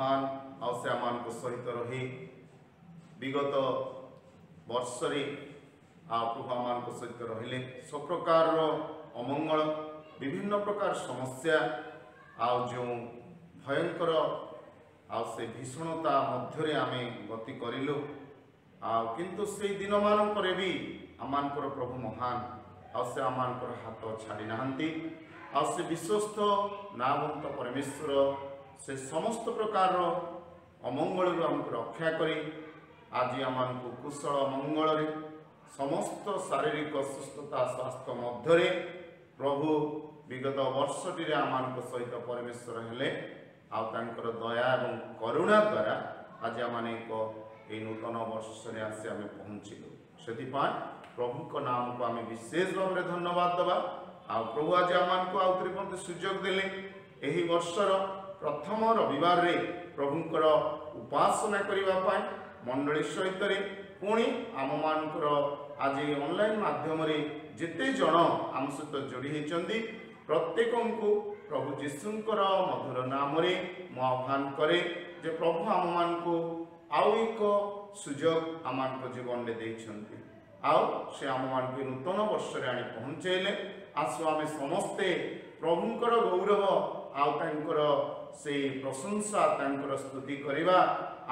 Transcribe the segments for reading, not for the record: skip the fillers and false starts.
ମହାନ ଆଉ ସେ ଆମମାନଙ୍କ ସହିତ ରହି ବିଗତ ବର୍ଷରେ ଆଉ ପ୍ରଭୁ ଆମମାନଙ୍କ ସହିତ ରହିଲେ। ସବୁ ପ୍ରକାରର ଅମଙ୍ଗଳ, ବିଭିନ୍ନ ପ୍ରକାର ସମସ୍ୟା ଆଉ ଯେଉଁ ଭୟଙ୍କର ଆଉ ସେ ଭୀଷଣତା ମଧ୍ୟରେ ଆମେ ଗତି କରିଲୁ, ଆଉ କିନ୍ତୁ ସେଇ ଦିନମାନଙ୍କରେ ବି ଆମମାନଙ୍କର ପ୍ରଭୁ ମହାନ ଆଉ ସେ ଆମମାନଙ୍କର ହାତ ଛାଡ଼ି ନାହାନ୍ତି। ଆଉ ସେ ବିଶ୍ୱସ୍ତ ନାମନ୍ତ ପରମେଶ୍ୱର ସେ ସମସ୍ତ ପ୍ରକାରର ଅମଙ୍ଗଳରୁ ଆମକୁ ରକ୍ଷା କରି ଆଜି ଆମମାନଙ୍କୁ କୁଶଳ ମଙ୍ଗଳରେ ସମସ୍ତ ଶାରୀରିକ ସୁସ୍ଥତା ସ୍ୱାସ୍ଥ୍ୟ ମଧ୍ୟରେ ପ୍ରଭୁ ବିଗତ ବର୍ଷଟିରେ ଆମମାନଙ୍କ ସହିତ ପରମେଶ୍ୱର ହେଲେ। ଆଉ ତାଙ୍କର ଦୟା ଏବଂ କରୁଣା ଦ୍ୱାରା ଆଜି ଆମମାନେ ଏକ ଏଇ ନୂତନ ବର୍ଷରେ ଆସି ଆମେ ପହଞ୍ଚିଲୁ। ସେଥିପାଇଁ ପ୍ରଭୁଙ୍କ ନାମକୁ ଆମେ ବିଶେଷ ଭାବରେ ଧନ୍ୟବାଦ ଦେବା। ଆଉ ପ୍ରଭୁ ଆଜି ଆମମାନଙ୍କୁ ଆଉ ଥରେ ମଧ୍ୟ ସୁଯୋଗ ଦେଲେ ଏହି ବର୍ଷର ପ୍ରଥମ ରବିବାରରେ ପ୍ରଭୁଙ୍କର ଉପାସନା କରିବା ପାଇଁ ମଣ୍ଡଳୀ ସହିତରେ। ପୁଣି ଆମମାନଙ୍କର ଆଜି ଅନଲାଇନ୍ ମାଧ୍ୟମରେ ଯେତେ ଜଣ ଆମ ସହିତ ଯୋଡ଼ି ହୋଇଛନ୍ତି ପ୍ରତ୍ୟେକଙ୍କୁ ପ୍ରଭୁ ଯୀଶୁଙ୍କର ମଧୁର ନାମରେ ମୁଁ ଆହ୍ୱାନ କରେ ଯେ ପ୍ରଭୁ ଆମମାନଙ୍କୁ ଆଉ ଏକ ସୁଯୋଗ ଆମମାନଙ୍କ ଜୀବନରେ ଦେଇଛନ୍ତି ଆଉ ସେ ଆମମାନଙ୍କୁ ନୂତନ ବର୍ଷରେ ଆଣି ପହଞ୍ଚାଇଲେ। ଆସୁ ଆମେ ସମସ୍ତେ ପ୍ରଭୁଙ୍କର ଗୌରବ ଆଉ ତାଙ୍କର ସେଇ ପ୍ରଶଂସା, ତାଙ୍କର ସ୍ତୁତି କରିବା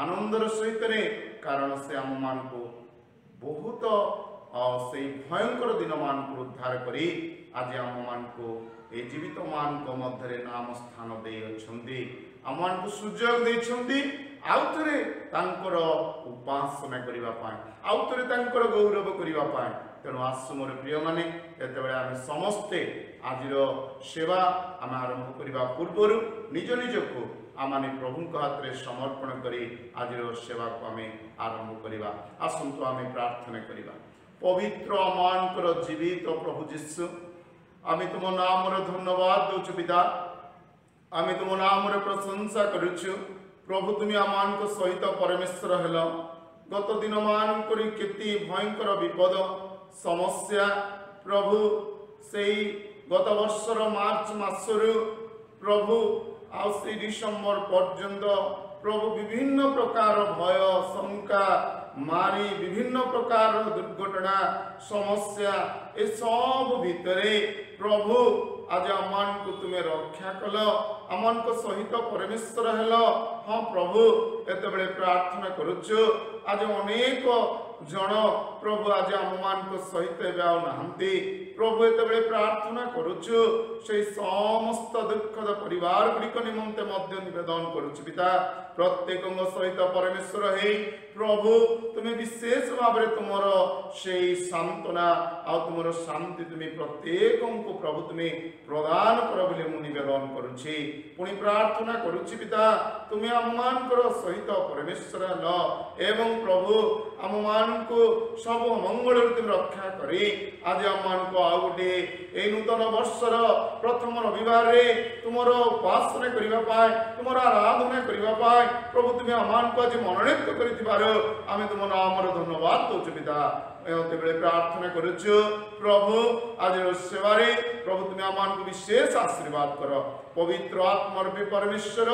ଆନନ୍ଦର ସହିତରେ, କାରଣ ସେ ଆମମାନଙ୍କୁ ବହୁତ ସେଇ ଭୟଙ୍କର ଦିନମାନଙ୍କୁ ଉଦ୍ଧାର କରି ଆଜି ଆମମାନଙ୍କୁ ଏଇ ଜୀବିତମାନଙ୍କ ମଧ୍ୟରେ ନାମ ସ୍ଥାନ ଦେଇଅଛନ୍ତି, ଆମମାନଙ୍କୁ ସୁଯୋଗ ଦେଇଛନ୍ତି ଆଉ ଥରେ ତାଙ୍କର ଉପାସନା କରିବା ପାଇଁ, ଆଉ ଥରେ ତାଙ୍କର ଗୌରବ କରିବା ପାଇଁ। ତେଣୁ ଆସୁ ମୋର ପ୍ରିୟମାନେ, ଯେତେବେଳେ ଆମେ ସମସ୍ତେ ଆଜିର ସେବା ଆମେ ଆରମ୍ଭ କରିବା ପୂର୍ବରୁ ନିଜ ନିଜକୁ ଆମମାନେ ପ୍ରଭୁଙ୍କ ହାତରେ ସମର୍ପଣ କରି ଆଜିର ସେବାକୁ ଆମେ ଆରମ୍ଭ କରିବା। ଆସନ୍ତୁ ଆମେ ପ୍ରାର୍ଥନା କରିବା। ପବିତ୍ର ଆମମାନଙ୍କର ଜୀବିତ ପ୍ରଭୁ ଯୀଶୁ, ଆମେ ତୁମ ନାମର ଧନ୍ୟବାଦ ଦେଉଛୁ ପିତା, ଆମେ ତୁମ ନାମର ପ୍ରଶଂସା କରୁଛୁ। ପ୍ରଭୁ ତୁମେ ଆମମାନଙ୍କ ସହିତ ପରମେଶ୍ୱର ହେଲ। ଗତ ଦିନମାନଙ୍କରେ କେତେ ଭୟଙ୍କର ବିପଦ ସମସ୍ୟା ପ୍ରଭୁ, ସେଇ ଗତ ବର୍ଷର ମାର୍ଚ୍ଚ ମାସରୁ ପ୍ରଭୁ ଆଉ ସେଇ ଡିସେମ୍ବର ପର୍ଯ୍ୟନ୍ତ ପ୍ରଭୁ ବିଭିନ୍ନ ପ୍ରକାର ଭୟ ଶଙ୍କା ମାରି ବିଭିନ୍ନ ପ୍ରକାରର ଦୁର୍ଘଟଣା ସମସ୍ୟା ଏସବୁ ଭିତରେ ପ୍ରଭୁ ଆଜି ଆମମାନଙ୍କୁ ତୁମେ ରକ୍ଷା କଲ, ଆମମାନଙ୍କ ସହିତ ପରମେଶ୍ୱର ହେଲ। ହଁ ପ୍ରଭୁ, ଏତେବେଳେ ପ୍ରାର୍ଥନା କରୁଛୁ ଆଜି ଅନେକ ଜଣ ପ୍ରଭୁ ଆଜି ଆମମାନଙ୍କ ସହିତ ଏବେ ଆଉ ନାହାନ୍ତି। ପ୍ରଭୁ ଏତେବେଳେ ପ୍ରାର୍ଥନା କରୁଛୁ ସେଇ ସମସ୍ତ ଦୁଃଖଦ ପରିବାର ଗୁଡ଼ିକ ନିମନ୍ତେ ମଧ୍ୟ ନିବେଦନ କରୁଛୁ ପିତା, ପ୍ରତ୍ୟେକଙ୍କ ସହିତ ପରମେଶ୍ୱର ହେଇ ପ୍ରଭୁ ତୁମେ ବିଶେଷ ଭାବରେ ତୁମର ସେଇ ସାନ୍ତ୍ୱନା ଆଉ ତୁମର ଶାନ୍ତି ତୁମେ ପ୍ରତ୍ୟେକଙ୍କୁ ପ୍ରଭୁ ତୁମେ ପ୍ରଦାନ କର ବୋଲି ମୁଁ ନିବେଦନ କରୁଛି। ପୁଣି ପ୍ରାର୍ଥନା କରୁଛି ପିତା, ତୁମେ ଆମମାନଙ୍କର ସହିତ ପରମେଶ୍ୱର ହେଲ ଏବଂ ପ୍ରଭୁ ଆମମାନଙ୍କୁ ସବୁ ଅମଙ୍ଗଳରୁ ତୁମେ ରକ୍ଷା କରି ଆଜି ଆମମାନଙ୍କୁ ଆଉ ଗୋଟିଏ ଏଇ ନୂତନ ବର୍ଷର ପ୍ରଥମ ରବିବାରରେ ତୁମର ଉପାସନା କରିବା ପାଇଁ, ତୁମର ଆରାଧନା କରିବା ପାଇଁ ପ୍ରଭୁ ତୁମେ ଆମମାନଙ୍କୁ ଆଜି ମନୋନୀତ କରିଥିବାରୁ ଆମେ ତୁମ ନାମର ଧନ୍ୟବାଦ ଦେଉଛୁ ପିତା। ଏତେବେଳେ ପ୍ରାର୍ଥନା କରୁଛୁ ପ୍ରଭୁ ଆଜିର ସେବାରେ ପ୍ରଭୁ ତୁମେ ଆମମାନଙ୍କୁ ବିଶେଷ ଆଶୀର୍ବାଦ କର। ପବିତ୍ର ଆତ୍ମରୂପୀ ପରମେଶ୍ୱର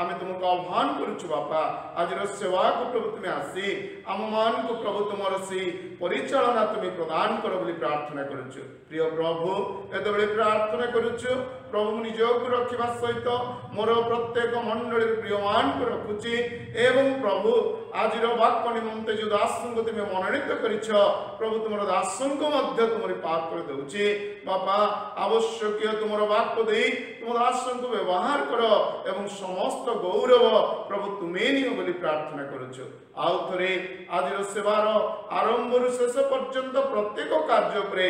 ଆମେ ତୁମକୁ ଆହ୍ୱାନ କରୁଛୁ ବାପା, ଆଜିର ସେବାକୁ ପ୍ରଭୁ ତୁମେ ଆସି ଆମମାନଙ୍କୁ ପ୍ରଭୁ ତୁମର ସେଇ ପରିଚାଳନା ତୁମେ ପ୍ରଦାନ କର ବୋଲି ପ୍ରାର୍ଥନା କରୁଛୁ। ପ୍ରିୟ ପ୍ରଭୁ ଏତେବେଳେ ପ୍ରାର୍ଥନା କରୁଛୁ ପ୍ରଭୁ ନିଜକୁ ରଖିବା ସହିତ ମୋର ପ୍ରତ୍ୟେକ ମଣ୍ଡଳୀର ପ୍ରିୟମାନଙ୍କୁ ରଖୁଛି ଏବଂ ପ୍ରଭୁ ଆଜିର ବାକ୍ୟ ନିମନ୍ତେ ଯେଉଁ ଦାସଙ୍କୁ ତୁମେ ମନୋନୀତ କରିଛ ପ୍ରଭୁ ତୁମର ଦାସଙ୍କୁ ମଧ୍ୟ ତୁମରି ପାଖରେ ଦେଉଛି ବାପା, ଆବଶ୍ୟକୀୟ ତୁମର ବାକ୍ୟ ଦେଇ ତୁମ ଦାସଙ୍କୁ ବ୍ୟବହାର କର ଏବଂ ସମସ୍ତ ଗୌରବ ପ୍ରଭୁ ତୁମେ ନିଅ ବୋଲି ପ୍ରାର୍ଥନା କରୁଛୁ। ଆଉ ଥରେ ଆଜିର ସେବାର ଆରମ୍ଭରୁ ଶେଷ ପର୍ଯ୍ୟନ୍ତ ପ୍ରତ୍ୟେକ କାର୍ଯ୍ୟ ଉପରେ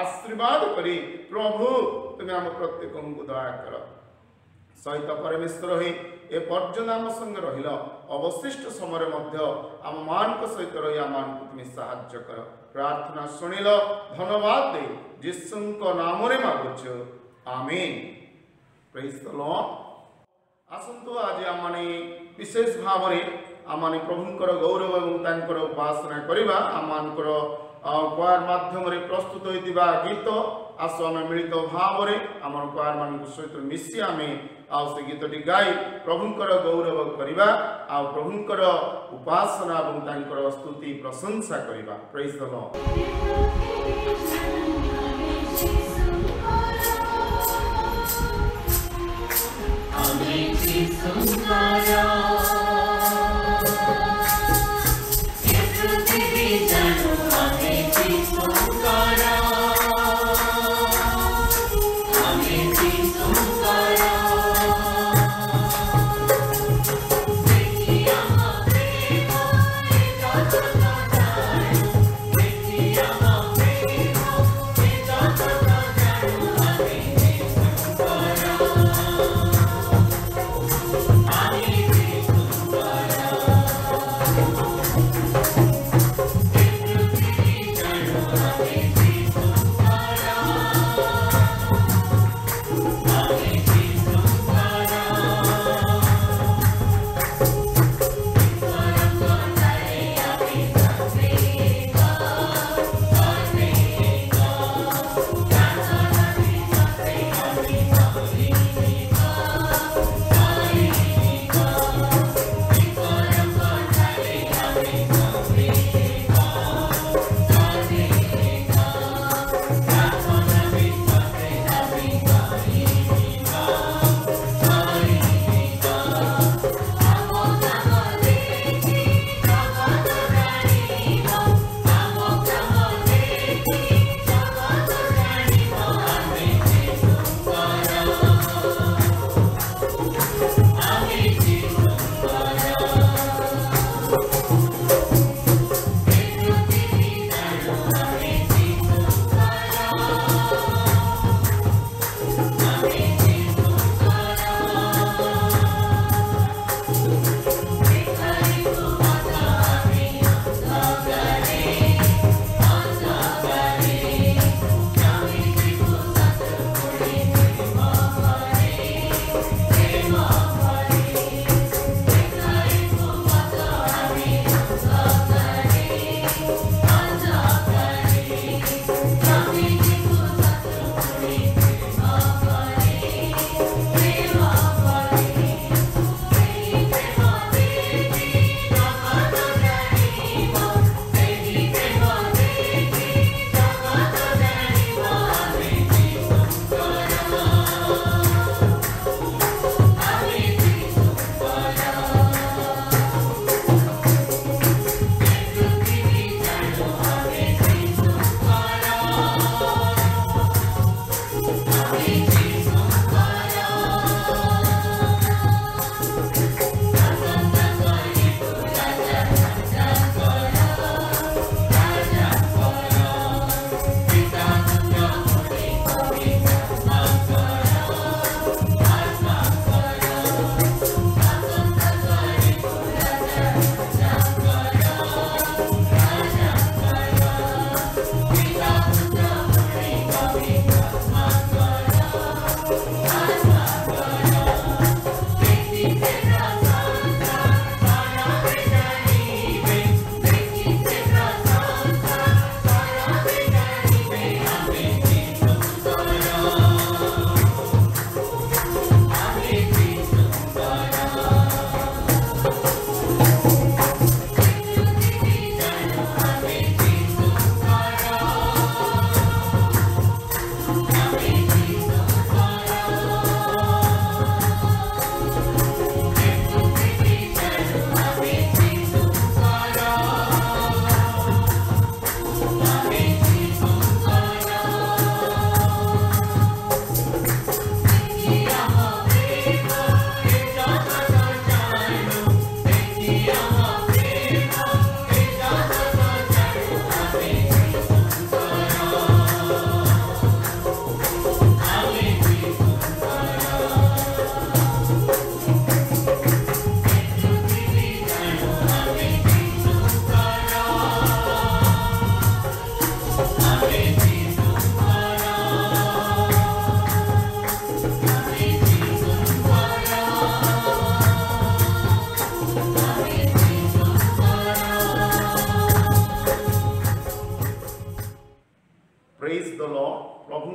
ଆଶୀର୍ବାଦ କରି ପ୍ରଭୁ ତୁମେ ଆମ ପ୍ରତ୍ୟେକଙ୍କୁ ଦୟା କର। ସହିତ ପରମେଶ୍ୱର ହୋଇ ଏ ପର୍ଯ୍ୟନ୍ତ ଆମ ସଙ୍ଗେ ରହିଲ, ଅବଶିଷ୍ଟ ସମୟରେ ମଧ୍ୟ ଆମମାନଙ୍କ ସହିତ ରହି ଆମମାନଙ୍କୁ ତୁମେ ସାହାଯ୍ୟ କର। ପ୍ରାର୍ଥନା ଶୁଣିଲ, ଧନ୍ୟବାଦ ଦେଇ ଯୀଶୁଙ୍କ ନାମରେ ମାଗୁଛୁ, ଆମିନ। Praise the Lord. ଆସନ୍ତୁ ଆଜି ଆମମାନେ ବିଶେଷ ଭାବରେ ଆମମାନେ ପ୍ରଭୁଙ୍କର ଗୌରବ ଏବଂ ତାଙ୍କର ଉପାସନା କରିବା। ଆମମାନଙ୍କର କ୍ୱାର ମାଧ୍ୟମରେ ପ୍ରସ୍ତୁତ ହୋଇଥିବା ଗୀତ ଆସ ଆମେ ମିଳିତ ଭାବରେ ଆମର ମାନଙ୍କ ସହିତ ମିଶି ଆମେ ଆଉ ସେ ଗୀତଟି ଗାଇ ପ୍ରଭୁଙ୍କର ଗୌରବ କରିବା ଆଉ ପ୍ରଭୁଙ୍କର ଉପାସନା ଏବଂ ତାଙ୍କର ସ୍ତୁତି ପ୍ରଶଂସା କରିବା। Praise the Lord. ଆମେ ଯିଶୁଙ୍କର, ଏ ପୃଥିବୀ ଜାଣୁ ଆମେ ଯିଶୁଙ୍କର, ଆମେ ଯିଶୁଙ୍କର। ଦେଖି ଆମ ପ୍ରେମ ଏ ଜଗତ ଜାଣୁ, ଦେଖି ଆମ ପ୍ରେମ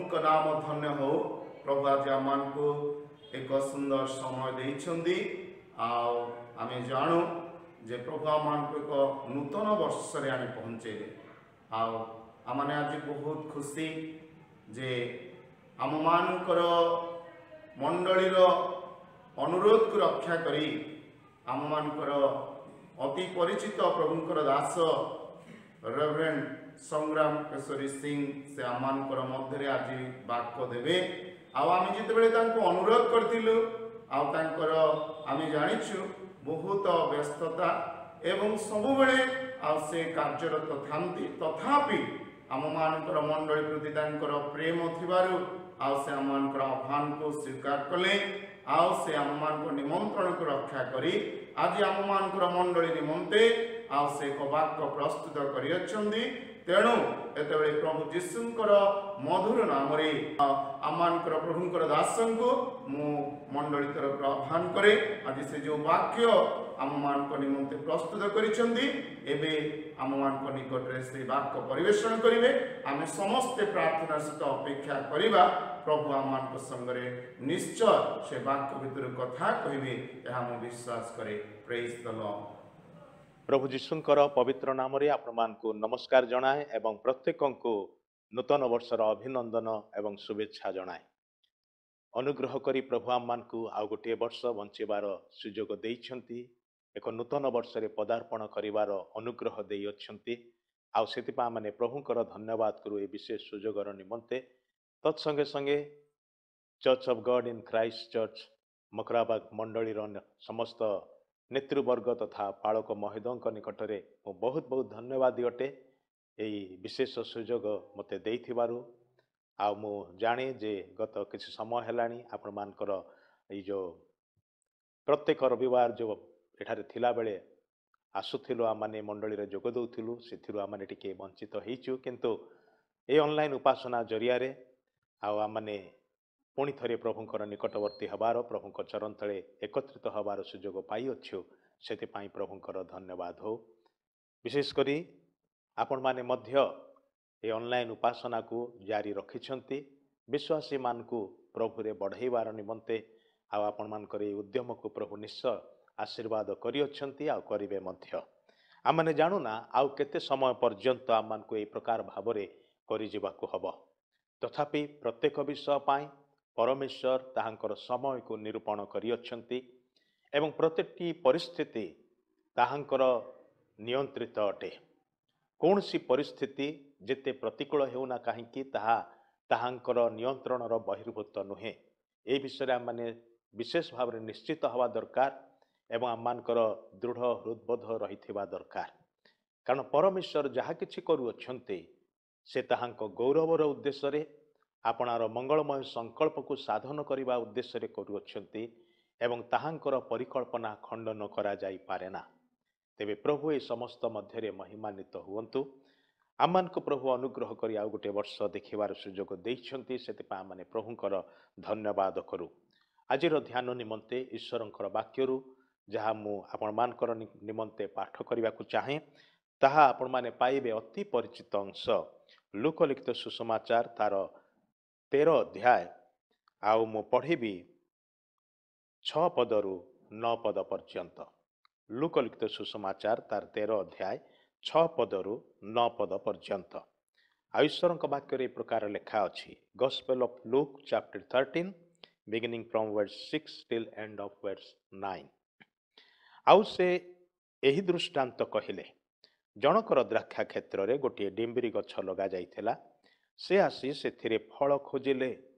ପ୍ରଭୁଙ୍କ ନାମ ଧନ୍ୟ ହଉ। ପ୍ରଭୁ ଆଜି ଆମମାନଙ୍କୁ ଏକ ସୁନ୍ଦର ସମୟ ଦେଇଛନ୍ତି। ଆଉ ଆମେ ଜାଣୁ ଯେ ପ୍ରଭୁ ଆମମାନଙ୍କୁ ଏକ ନୂତନ ବର୍ଷରେ ଆଣି ପହଞ୍ଚେଇଲେ। ଆଉ ଆମମାନେ ଆଜି ବହୁତ ଖୁସି ଯେ ଆମମାନଙ୍କର ମଣ୍ଡଳୀର ଅନୁରୋଧକୁ ରକ୍ଷା କରି ଆମମାନଙ୍କର ଅତି ପରିଚିତ ପ୍ରଭୁଙ୍କର ଦାସ ରେଭରେଣ୍ଡ ସଂଗ୍ରାମ କେଶରୀ ସିଂ ସେ ଆମମାନଙ୍କର ମଧ୍ୟରେ ଆଜି ବାକ୍ୟ ଦେବେ। ଆଉ ଆମେ ଯେତେବେଳେ ତାଙ୍କୁ ଅନୁରୋଧ କରିଥିଲୁ, ଆଉ ତାଙ୍କର ଆମେ ଜାଣିଛୁ ବହୁତ ବ୍ୟସ୍ତତା ଏବଂ ସବୁବେଳେ ଆଉ ସେ କାର୍ଯ୍ୟରତ ଥାନ୍ତି, ତଥାପି ଆମମାନଙ୍କର ମଣ୍ଡଳୀ ପ୍ରତି ତାଙ୍କର ପ୍ରେମ ଥିବାରୁ ଆଉ ସେ ଆମମାନଙ୍କର ଆହ୍ୱାନକୁ ସ୍ୱୀକାର କଲେ। ଆଉ ସେ ଆମମାନଙ୍କ ନିମନ୍ତ୍ରଣକୁ ରକ୍ଷା କରି ଆଜି ଆମମାନଙ୍କର ମଣ୍ଡଳୀ ନିମନ୍ତେ ଆଉ ସେ ଏକ ବାକ୍ୟ ପ୍ରସ୍ତୁତ କରିଅଛନ୍ତି। ତେଣୁ ଏତେବେଳେ ପ୍ରଭୁ ଯୀଶୁଙ୍କର ମଧୁର ନାମରେ ଆମମାନଙ୍କର ପ୍ରଭୁଙ୍କର ଦାସଙ୍କୁ ମୁଁ ମଣ୍ଡଳୀ ତରଫରୁ ଆହ୍ୱାନ କରେ। ଆଜି ସେ ଯେଉଁ ବାକ୍ୟ ଆମମାନଙ୍କ ନିମନ୍ତେ ପ୍ରସ୍ତୁତ କରିଛନ୍ତି, ଏବେ ଆମମାନଙ୍କ ନିକଟରେ ସେ ବାକ୍ୟ ପରିବେଷଣ କରିବେ। ଆମେ ସମସ୍ତେ ପ୍ରାର୍ଥନା ସହିତ ଅପେକ୍ଷା କରିବା। ପ୍ରଭୁ ଆମମାନଙ୍କ ସଙ୍ଗରେ ନିଶ୍ଚୟ ସେ ବାକ୍ୟ ଭିତରୁ କଥା କହିବେ, ଏହା ମୁଁ ବିଶ୍ୱାସ କରେ। ପ୍ରେଜ୍ ଦ ଲର୍ଡ। ପ୍ରଭୁ ଯୀଶୁଙ୍କର ପବିତ୍ର ନାମରେ ଆପଣମାନଙ୍କୁ ନମସ୍କାର ଜଣାଏ ଏବଂ ପ୍ରତ୍ୟେକଙ୍କୁ ନୂତନ ବର୍ଷର ଅଭିନନ୍ଦନ ଏବଂ ଶୁଭେଚ୍ଛା ଜଣାଏ। ଅନୁଗ୍ରହ କରି ପ୍ରଭୁ ଆମମାନଙ୍କୁ ଆଉ ଗୋଟିଏ ବର୍ଷ ବଞ୍ଚିବାର ସୁଯୋଗ ଦେଇଛନ୍ତି, ଏକ ନୂତନ ବର୍ଷରେ ପଦାର୍ପଣ କରିବାର ଅନୁଗ୍ରହ ଦେଇଅଛନ୍ତି। ଆଉ ସେଥିପାଇଁ ଆମେ ପ୍ରଭୁଙ୍କର ଧନ୍ୟବାଦ କରୁ ଏ ବିଶେଷ ସୁଯୋଗର ନିମନ୍ତେ। ତତ୍ସଙ୍ଗେ ସଙ୍ଗେ Church of God in Christ Church Makrabag ମଣ୍ଡଳୀର ସମସ୍ତ ନେତୃବର୍ଗ ତଥା ପାଳକ ମହୋଦୟଙ୍କ ନିକଟରେ ମୁଁ ବହୁତ ବହୁତ ଧନ୍ୟବାଦୀ ଅଟେ ଏଇ ବିଶେଷ ସୁଯୋଗ ମୋତେ ଦେଇଥିବାରୁ। ଆଉ ମୁଁ ଜାଣେ ଯେ ଗତ କିଛି ସମୟ ହେଲାଣି ଆପଣମାନଙ୍କର ଏଇ ଯେଉଁ ପ୍ରତ୍ୟେକ ରବିବାର ଯେଉଁ ଏଠାରେ ଥିଲାବେଳେ ଆସୁଥିଲୁ, ଆମମାନେ ମଣ୍ଡଳୀରେ ଯୋଗ ଦେଉଥିଲୁ, ସେଥିରୁ ଆମମାନେ ଟିକେ ବଞ୍ଚିତ ହେଇଛୁ। କିନ୍ତୁ ଏଇ ଅନଲାଇନ୍ ଉପାସନା ଜରିଆରେ ଆଉ ଆମମାନେ ପୁଣି ଥରେ ପ୍ରଭୁଙ୍କର ନିକଟବର୍ତ୍ତୀ ହେବାର, ପ୍ରଭୁଙ୍କ ଚରଣ ତଳେ ଏକତ୍ରିତ ହେବାର ସୁଯୋଗ ପାଇଅଛୁ। ସେଥିପାଇଁ ପ୍ରଭୁଙ୍କର ଧନ୍ୟବାଦ ହଉ। ବିଶେଷ କରି ଆପଣମାନେ ମଧ୍ୟ ଏ ଅନଲାଇନ୍ ଉପାସନାକୁ ଜାରି ରଖିଛନ୍ତି ବିଶ୍ୱାସୀମାନଙ୍କୁ ପ୍ରଭୁରେ ବଢ଼େଇବାର ନିମନ୍ତେ। ଆଉ ଆପଣମାନଙ୍କର ଏଇ ଉଦ୍ୟମକୁ ପ୍ରଭୁ ନିଶ୍ଚୟ ଆଶୀର୍ବାଦ କରିଅଛନ୍ତି ଆଉ କରିବେ ମଧ୍ୟ। ଆମମାନେ ଜାଣୁନା ଆଉ କେତେ ସମୟ ପର୍ଯ୍ୟନ୍ତ ଆମମାନଙ୍କୁ ଏଇ ପ୍ରକାର ଭାବରେ କରିଯିବାକୁ ହେବ। ତଥାପି ପ୍ରତ୍ୟେକ ବିଷୟ ପାଇଁ ପରମେଶ୍ୱର ତାହାଙ୍କର ସମୟକୁ ନିରୂପଣ କରିଅଛନ୍ତି ଏବଂ ପ୍ରତ୍ୟେକଟି ପରିସ୍ଥିତି ତାହାଙ୍କର ନିୟନ୍ତ୍ରିତ ଅଟେ। କୌଣସି ପରିସ୍ଥିତି ଯେତେ ପ୍ରତିକୂଳ ହେଉନା କାହିଁକି, ତାହା ତାହାଙ୍କର ନିୟନ୍ତ୍ରଣର ବହିର୍ଭୂତ ନୁହେଁ। ଏ ବିଷୟରେ ଆମମାନେ ବିଶେଷ ଭାବରେ ନିଶ୍ଚିତ ହେବା ଦରକାର ଏବଂ ଆମମାନଙ୍କର ଦୃଢ଼ ହୃଦବୋଧ ରହିଥିବା ଦରକାର। କାରଣ ପରମେଶ୍ୱର ଯାହା କିଛି କରୁଅଛନ୍ତି ସେ ତାହାଙ୍କ ଗୌରବର ଉଦ୍ଦେଶ୍ୟରେ, ଆପଣାର ମଙ୍ଗଳମୟ ସଂକଳ୍ପକୁ ସାଧନ କରିବା ଉଦ୍ଦେଶ୍ୟରେ କରୁଅଛନ୍ତି ଏବଂ ତାହାଙ୍କର ପରିକଳ୍ପନା ଖଣ୍ଡନ କରାଯାଇପାରେ ନା। ତେବେ ପ୍ରଭୁ ଏ ସମସ୍ତ ମଧ୍ୟରେ ମହିମାନ୍ୱିତ ହୁଅନ୍ତୁ। ଆମମାନଙ୍କୁ ପ୍ରଭୁ ଅନୁଗ୍ରହ କରି ଆଉ ଗୋଟିଏ ବର୍ଷ ଦେଖିବାର ସୁଯୋଗ ଦେଇଛନ୍ତି, ସେଥିପାଇଁ ଆମମାନେ ପ୍ରଭୁଙ୍କର ଧନ୍ୟବାଦ କରୁ। ଆଜିର ଧ୍ୟାନ ନିମନ୍ତେ ଈଶ୍ୱରଙ୍କର ବାକ୍ୟରୁ ଯାହା ମୁଁ ଆପଣମାନଙ୍କର ନିମନ୍ତେ ପାଠ କରିବାକୁ ଚାହେଁ, ତାହା ଆପଣମାନେ ପାଇବେ ଅତି ପରିଚିତ ଅଂଶ, ଲୂକଲିଖିତ ସୁସମାଚାର ତାର 13 ଅଧ୍ୟାୟ, ଆଉ ମୁଁ ପଢ଼ିବି 6 ପଦରୁ 9 ପଦ ପର୍ଯ୍ୟନ୍ତ। ଲୂକଲିଖିତ ସୁସମାଚାର ତାର 13 ଅଧ୍ୟାୟ 6 ପଦରୁ 9 ପଦ ପର୍ଯ୍ୟନ୍ତ। ଆଉ ଈଶ୍ୱରଙ୍କ ବାକ୍ୟରେ ଏ ପ୍ରକାର ଲେଖା ଅଛି। Gospel of Luke chapter 13, beginning from verse 6 till end of verse 9। ଆଉ ସେ ଏହି ଦୃଷ୍ଟାନ୍ତ କହିଲେ, ଜଣକର ଦ୍ରାକ୍ଷା କ୍ଷେତ୍ରରେ ଗୋଟିଏ ଡିମ୍ବିରି ଗଛ ଲଗାଯାଇଥିଲା। ସେ ଆସି ସେଥିରେ ଫଳ ଖୋଜିଲେ,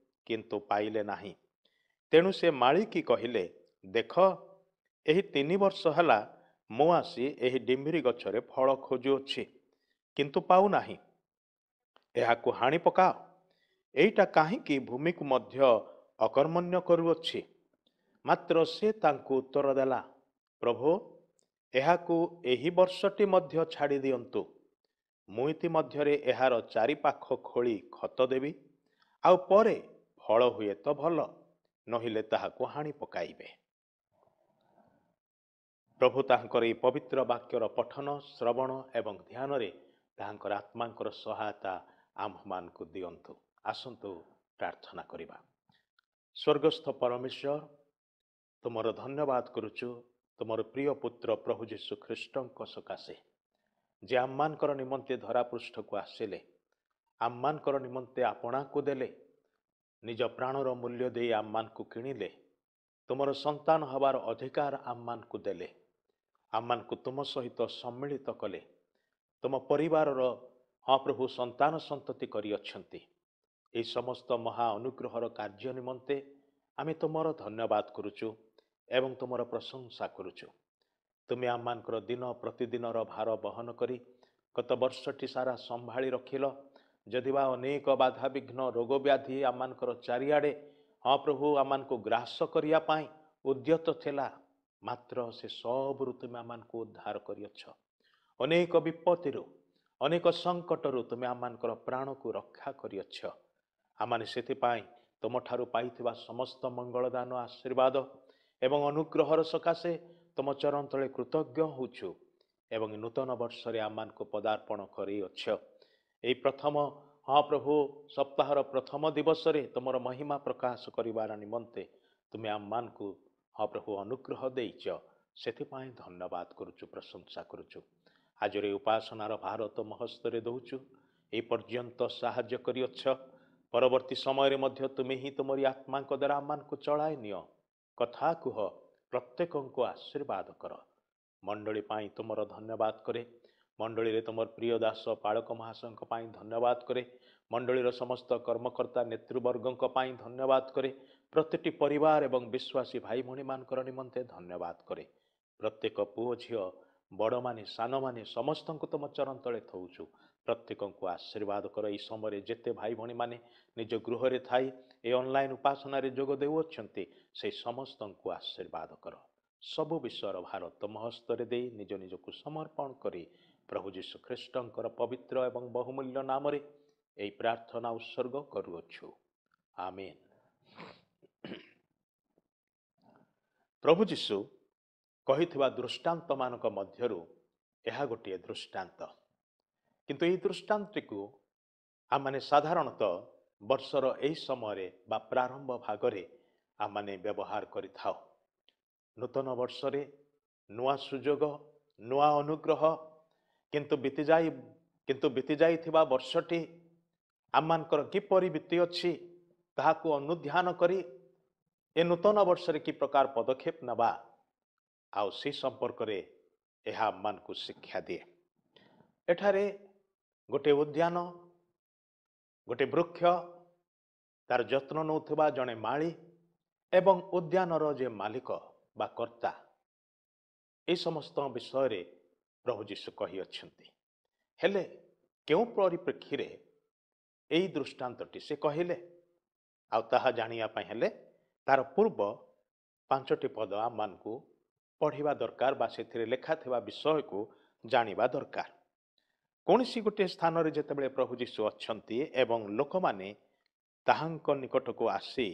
କିନ୍ତୁ ପାଇଲେ ନାହିଁ। ତେଣୁ ସେ ମାଳିକି କହିଲେ, ଦେଖ, ଏହି 3 ବର୍ଷ ହେଲା ମୁଁ ଆସି ଏହି ଡିମ୍ବିରି ଗଛରେ ଫଳ ଖୋଜୁଅଛି, କିନ୍ତୁ ପାଉନାହିଁ। ଏହାକୁ ହାଣି ପକାଅ, ଏଇଟା କାହିଁକି ଭୂମିକୁ ମଧ୍ୟ ଅକର୍ମଣ୍ୟ କରୁଅଛି? ମାତ୍ର ସେ ତାଙ୍କୁ ଉତ୍ତର ଦେଲା, ପ୍ରଭୁ, ଏହାକୁ ଏହି ବର୍ଷଟି ମଧ୍ୟ ଛାଡ଼ି ଦିଅନ୍ତୁ। ମୁଁ ଇତିମଧ୍ୟରେ ଏହାର ଚାରିପାଖ ଖୋଳି ଖତ ଦେବି, ଆଉ ପରେ ଫଳ ହୁଏ ତ ଭଲ, ନହିଲେ ତାହାକୁ ହାଣି ପକାଇବେ। ପ୍ରଭୁ ତାହାଙ୍କର ଏହି ପବିତ୍ର ବାକ୍ୟର ପଠନ, ଶ୍ରବଣ ଏବଂ ଧ୍ୟାନରେ ତାହାଙ୍କର ଆତ୍ମାଙ୍କର ସହାୟତା ଆମ୍ଭମାନଙ୍କୁ ଦିଅନ୍ତୁ। ଆସନ୍ତୁ ପ୍ରାର୍ଥନା କରିବା। ସ୍ୱର୍ଗସ୍ଥ ପରମେଶ୍ୱର, ତୁମର ଧନ୍ୟବାଦ କରୁଛୁ ତୁମର ପ୍ରିୟ ପୁତ୍ର ପ୍ରଭୁ ଯୀଶୁ ଖ୍ରୀଷ୍ଟଙ୍କ ସକାଶେ, ଯେ ଆମମାନଙ୍କର ନିମନ୍ତେ ଧରାପୃଷ୍ଠକୁ ଆସିଲେ, ଆମମାନଙ୍କର ନିମନ୍ତେ ଆପଣାକୁ ଦେଲେ, ନିଜ ପ୍ରାଣର ମୂଲ୍ୟ ଦେଇ ଆମମାନଙ୍କୁ କିଣିଲେ, ତୁମର ସନ୍ତାନ ହେବାର ଅଧିକାର ଆମମାନଙ୍କୁ ଦେଲେ, ଆମମାନଙ୍କୁ ତୁମ ସହିତ ସମ୍ମିଳିତ କଲେ, ତୁମ ପରିବାରର ହଁ ପ୍ରଭୁ ସନ୍ତାନ ସନ୍ତତି କରିଅଛନ୍ତି। ଏହି ସମସ୍ତ ମହା ଅନୁଗ୍ରହର କାର୍ଯ୍ୟ ନିମନ୍ତେ ଆମେ ତୁମର ଧନ୍ୟବାଦ କରୁଛୁ ଏବଂ ତୁମର ପ୍ରଶଂସା କରୁଛୁ। ତୁମେ ଆମମାନଙ୍କର ଦିନ ପ୍ରତିଦିନର ଭାର ବହନ କରି ଗତ ବର୍ଷଟି ସାରା ସମ୍ଭାଳି ରଖିଲ। ଯଦିବା ଅନେକ ବାଧାବିଘ୍ନ, ରୋଗ ବ୍ୟାଧି ଆମମାନଙ୍କର ଚାରିଆଡ଼େ ହଁ ପ୍ରଭୁ ଆମମାନଙ୍କୁ ଗ୍ରାସ କରିବା ପାଇଁ ଉଦ୍ୟତ ଥିଲା, ମାତ୍ର ସେ ସବୁରୁ ତୁମେ ଆମମାନଙ୍କୁ ଉଦ୍ଧାର କରିଅଛ। ଅନେକ ବିପତ୍ତିରୁ, ଅନେକ ସଙ୍କଟରୁ ତୁମେ ଆମମାନଙ୍କର ପ୍ରାଣକୁ ରକ୍ଷା କରିଅଛ। ଆମମାନେ ସେଥିପାଇଁ ତୁମଠାରୁ ପାଇଥିବା ସମସ୍ତ ମଙ୍ଗଳଦାନ, ଆଶୀର୍ବାଦ ଏବଂ ଅନୁଗ୍ରହର ସକାଶେ ତୁମ ଚରଣ ତଳେ କୃତଜ୍ଞ ହେଉଛୁ ଏବଂ ନୂତନ ବର୍ଷରେ ଆମମାନଙ୍କୁ ପଦାର୍ପଣ କରିଅଛ। ଏହି ପ୍ରଥମ ହଁ ପ୍ରଭୁ ସପ୍ତାହର ପ୍ରଥମ ଦିବସରେ ତୁମର ମହିମା ପ୍ରକାଶ କରିବାର ନିମନ୍ତେ ତୁମେ ଆମମାନଙ୍କୁ ହଁ ପ୍ରଭୁ ଅନୁଗ୍ରହ ଦେଇଛ, ସେଥିପାଇଁ ଧନ୍ୟବାଦ କରୁଛୁ, ପ୍ରଶଂସା କରୁଛୁ। ଆଜିର ଏହି ଉପାସନାର ଭାର ତୁମ ହସ୍ତରେ ଦେଉଛୁ। ଏହି ପର୍ଯ୍ୟନ୍ତ ସାହାଯ୍ୟ କରିଅଛ, ପରବର୍ତ୍ତୀ ସମୟରେ ମଧ୍ୟ ତୁମେ ହିଁ ତୁମରି ଆତ୍ମାଙ୍କ ଦ୍ୱାରା ଆମମାନଙ୍କୁ ଚଳାଇ ନିଅ। କଥା କୁହ, ପ୍ରତ୍ୟେକଙ୍କୁ ଆଶୀର୍ବାଦ କର। ମଣ୍ଡଳୀ ପାଇଁ ତୁମର ଧନ୍ୟବାଦ କରେ। ମଣ୍ଡଳୀରେ ତୁମର ପ୍ରିୟ ଦାସ ପାଳକ ମହାଶୟଙ୍କ ପାଇଁ ଧନ୍ୟବାଦ କରେ। ମଣ୍ଡଳୀର ସମସ୍ତ କର୍ମକର୍ତ୍ତା ନେତୃବର୍ଗଙ୍କ ପାଇଁ ଧନ୍ୟବାଦ କରେ। ପ୍ରତିଟି ପରିବାର ଏବଂ ବିଶ୍ୱାସୀ ଭାଇ ଭଉଣୀମାନଙ୍କର ନିମନ୍ତେ ଧନ୍ୟବାଦ କରେ। ପ୍ରତ୍ୟେକ ପୁଅ ଝିଅ, ବଡ଼ମାନେ ସାନମାନେ ସମସ୍ତଙ୍କୁ ତୁମ ଚରଣ ତଳେ ଥଉଛୁ। ପ୍ରତ୍ୟେକଙ୍କୁ ଆଶୀର୍ବାଦ କର। ଏହି ସମୟରେ ଯେତେ ଭାଇ ଭଉଣୀମାନେ ନିଜ ଗୃହରେ ଥାଇ ଏ ଅନଲାଇନ୍ ଉପାସନାରେ ଯୋଗ ଦେଉଅଛନ୍ତି, ସେହି ସମସ୍ତଙ୍କୁ ଆଶୀର୍ବାଦ କର। ସବୁ ବିଷୟର ଭାର ତୁମ ହସ୍ତରେ ଦେଇ ନିଜ ନିଜକୁ ସମର୍ପଣ କରି ପ୍ରଭୁ ଯୀଶୁ ଖ୍ରୀଷ୍ଟଙ୍କର ପବିତ୍ର ଏବଂ ବହୁମୂଲ୍ୟ ନାମରେ ଏହି ପ୍ରାର୍ଥନା ଉତ୍ସର୍ଗ କରୁଅଛୁ, ଆମେନ୍। ପ୍ରଭୁ ଯୀଶୁ କହିଥିବା ଦୃଷ୍ଟାନ୍ତମାନଙ୍କ ମଧ୍ୟରୁ ଏହା ଗୋଟିଏ ଦୃଷ୍ଟାନ୍ତ। କିନ୍ତୁ ଏହି ଦୃଷ୍ଟାନ୍ତଟିକୁ ଆମମାନେ ସାଧାରଣତଃ ବର୍ଷର ଏହି ସମୟରେ ବା ପ୍ରାରମ୍ଭ ଭାଗରେ ଆମମାନେ ବ୍ୟବହାର କରିଥାଉ। ନୂତନ ବର୍ଷରେ ନୂଆ ସୁଯୋଗ, ନୂଆ ଅନୁଗ୍ରହ, କିନ୍ତୁ ବିତିଯାଇଥିବା ବର୍ଷଟି ଆମମାନଙ୍କର କିପରି ବିତିଅଛି ତାହାକୁ ଅନୁଧ୍ୟାନ କରି ଏ ନୂତନ ବର୍ଷରେ କି ପ୍ରକାର ପଦକ୍ଷେପ ନେବା, ଆଉ ସେ ସମ୍ପର୍କରେ ଏହା ଆମମାନଙ୍କୁ ଶିକ୍ଷା ଦିଏ। ଏଠାରେ ଗୋଟିଏ ଉଦ୍ୟାନ, ଗୋଟେ ବୃକ୍ଷ, ତାର ଯତ୍ନ ନେଉଥିବା ଜଣେ ମାଳି ଏବଂ ଉଦ୍ୟାନର ଯେ ମାଲିକ ବା କର୍ତ୍ତା, ଏ ସମସ୍ତ ବିଷୟରେ ପ୍ରଭୁ ଯୀଶୁ କହିଅଛନ୍ତି। ହେଲେ କେଉଁ ପରିପ୍ରେକ୍ଷୀରେ ଏଇ ଦୃଷ୍ଟାନ୍ତଟି ସେ କହିଲେ, ଆଉ ତାହା ଜାଣିବା ପାଇଁ ହେଲେ ତାର ପୂର୍ବ 5ଟି ପଦ ଆମମାନଙ୍କୁ ପଢ଼ିବା ଦରକାର ବା ସେଥିରେ ଲେଖା ଥିବା ବିଷୟକୁ ଜାଣିବା ଦରକାର। କୌଣସି ଗୋଟିଏ ସ୍ଥାନରେ ଯେତେବେଳେ ପ୍ରଭୁ ଯୀଶୁ ଅଛନ୍ତି ଏବଂ ଲୋକମାନେ ତାହାଙ୍କ ନିକଟକୁ ଆସି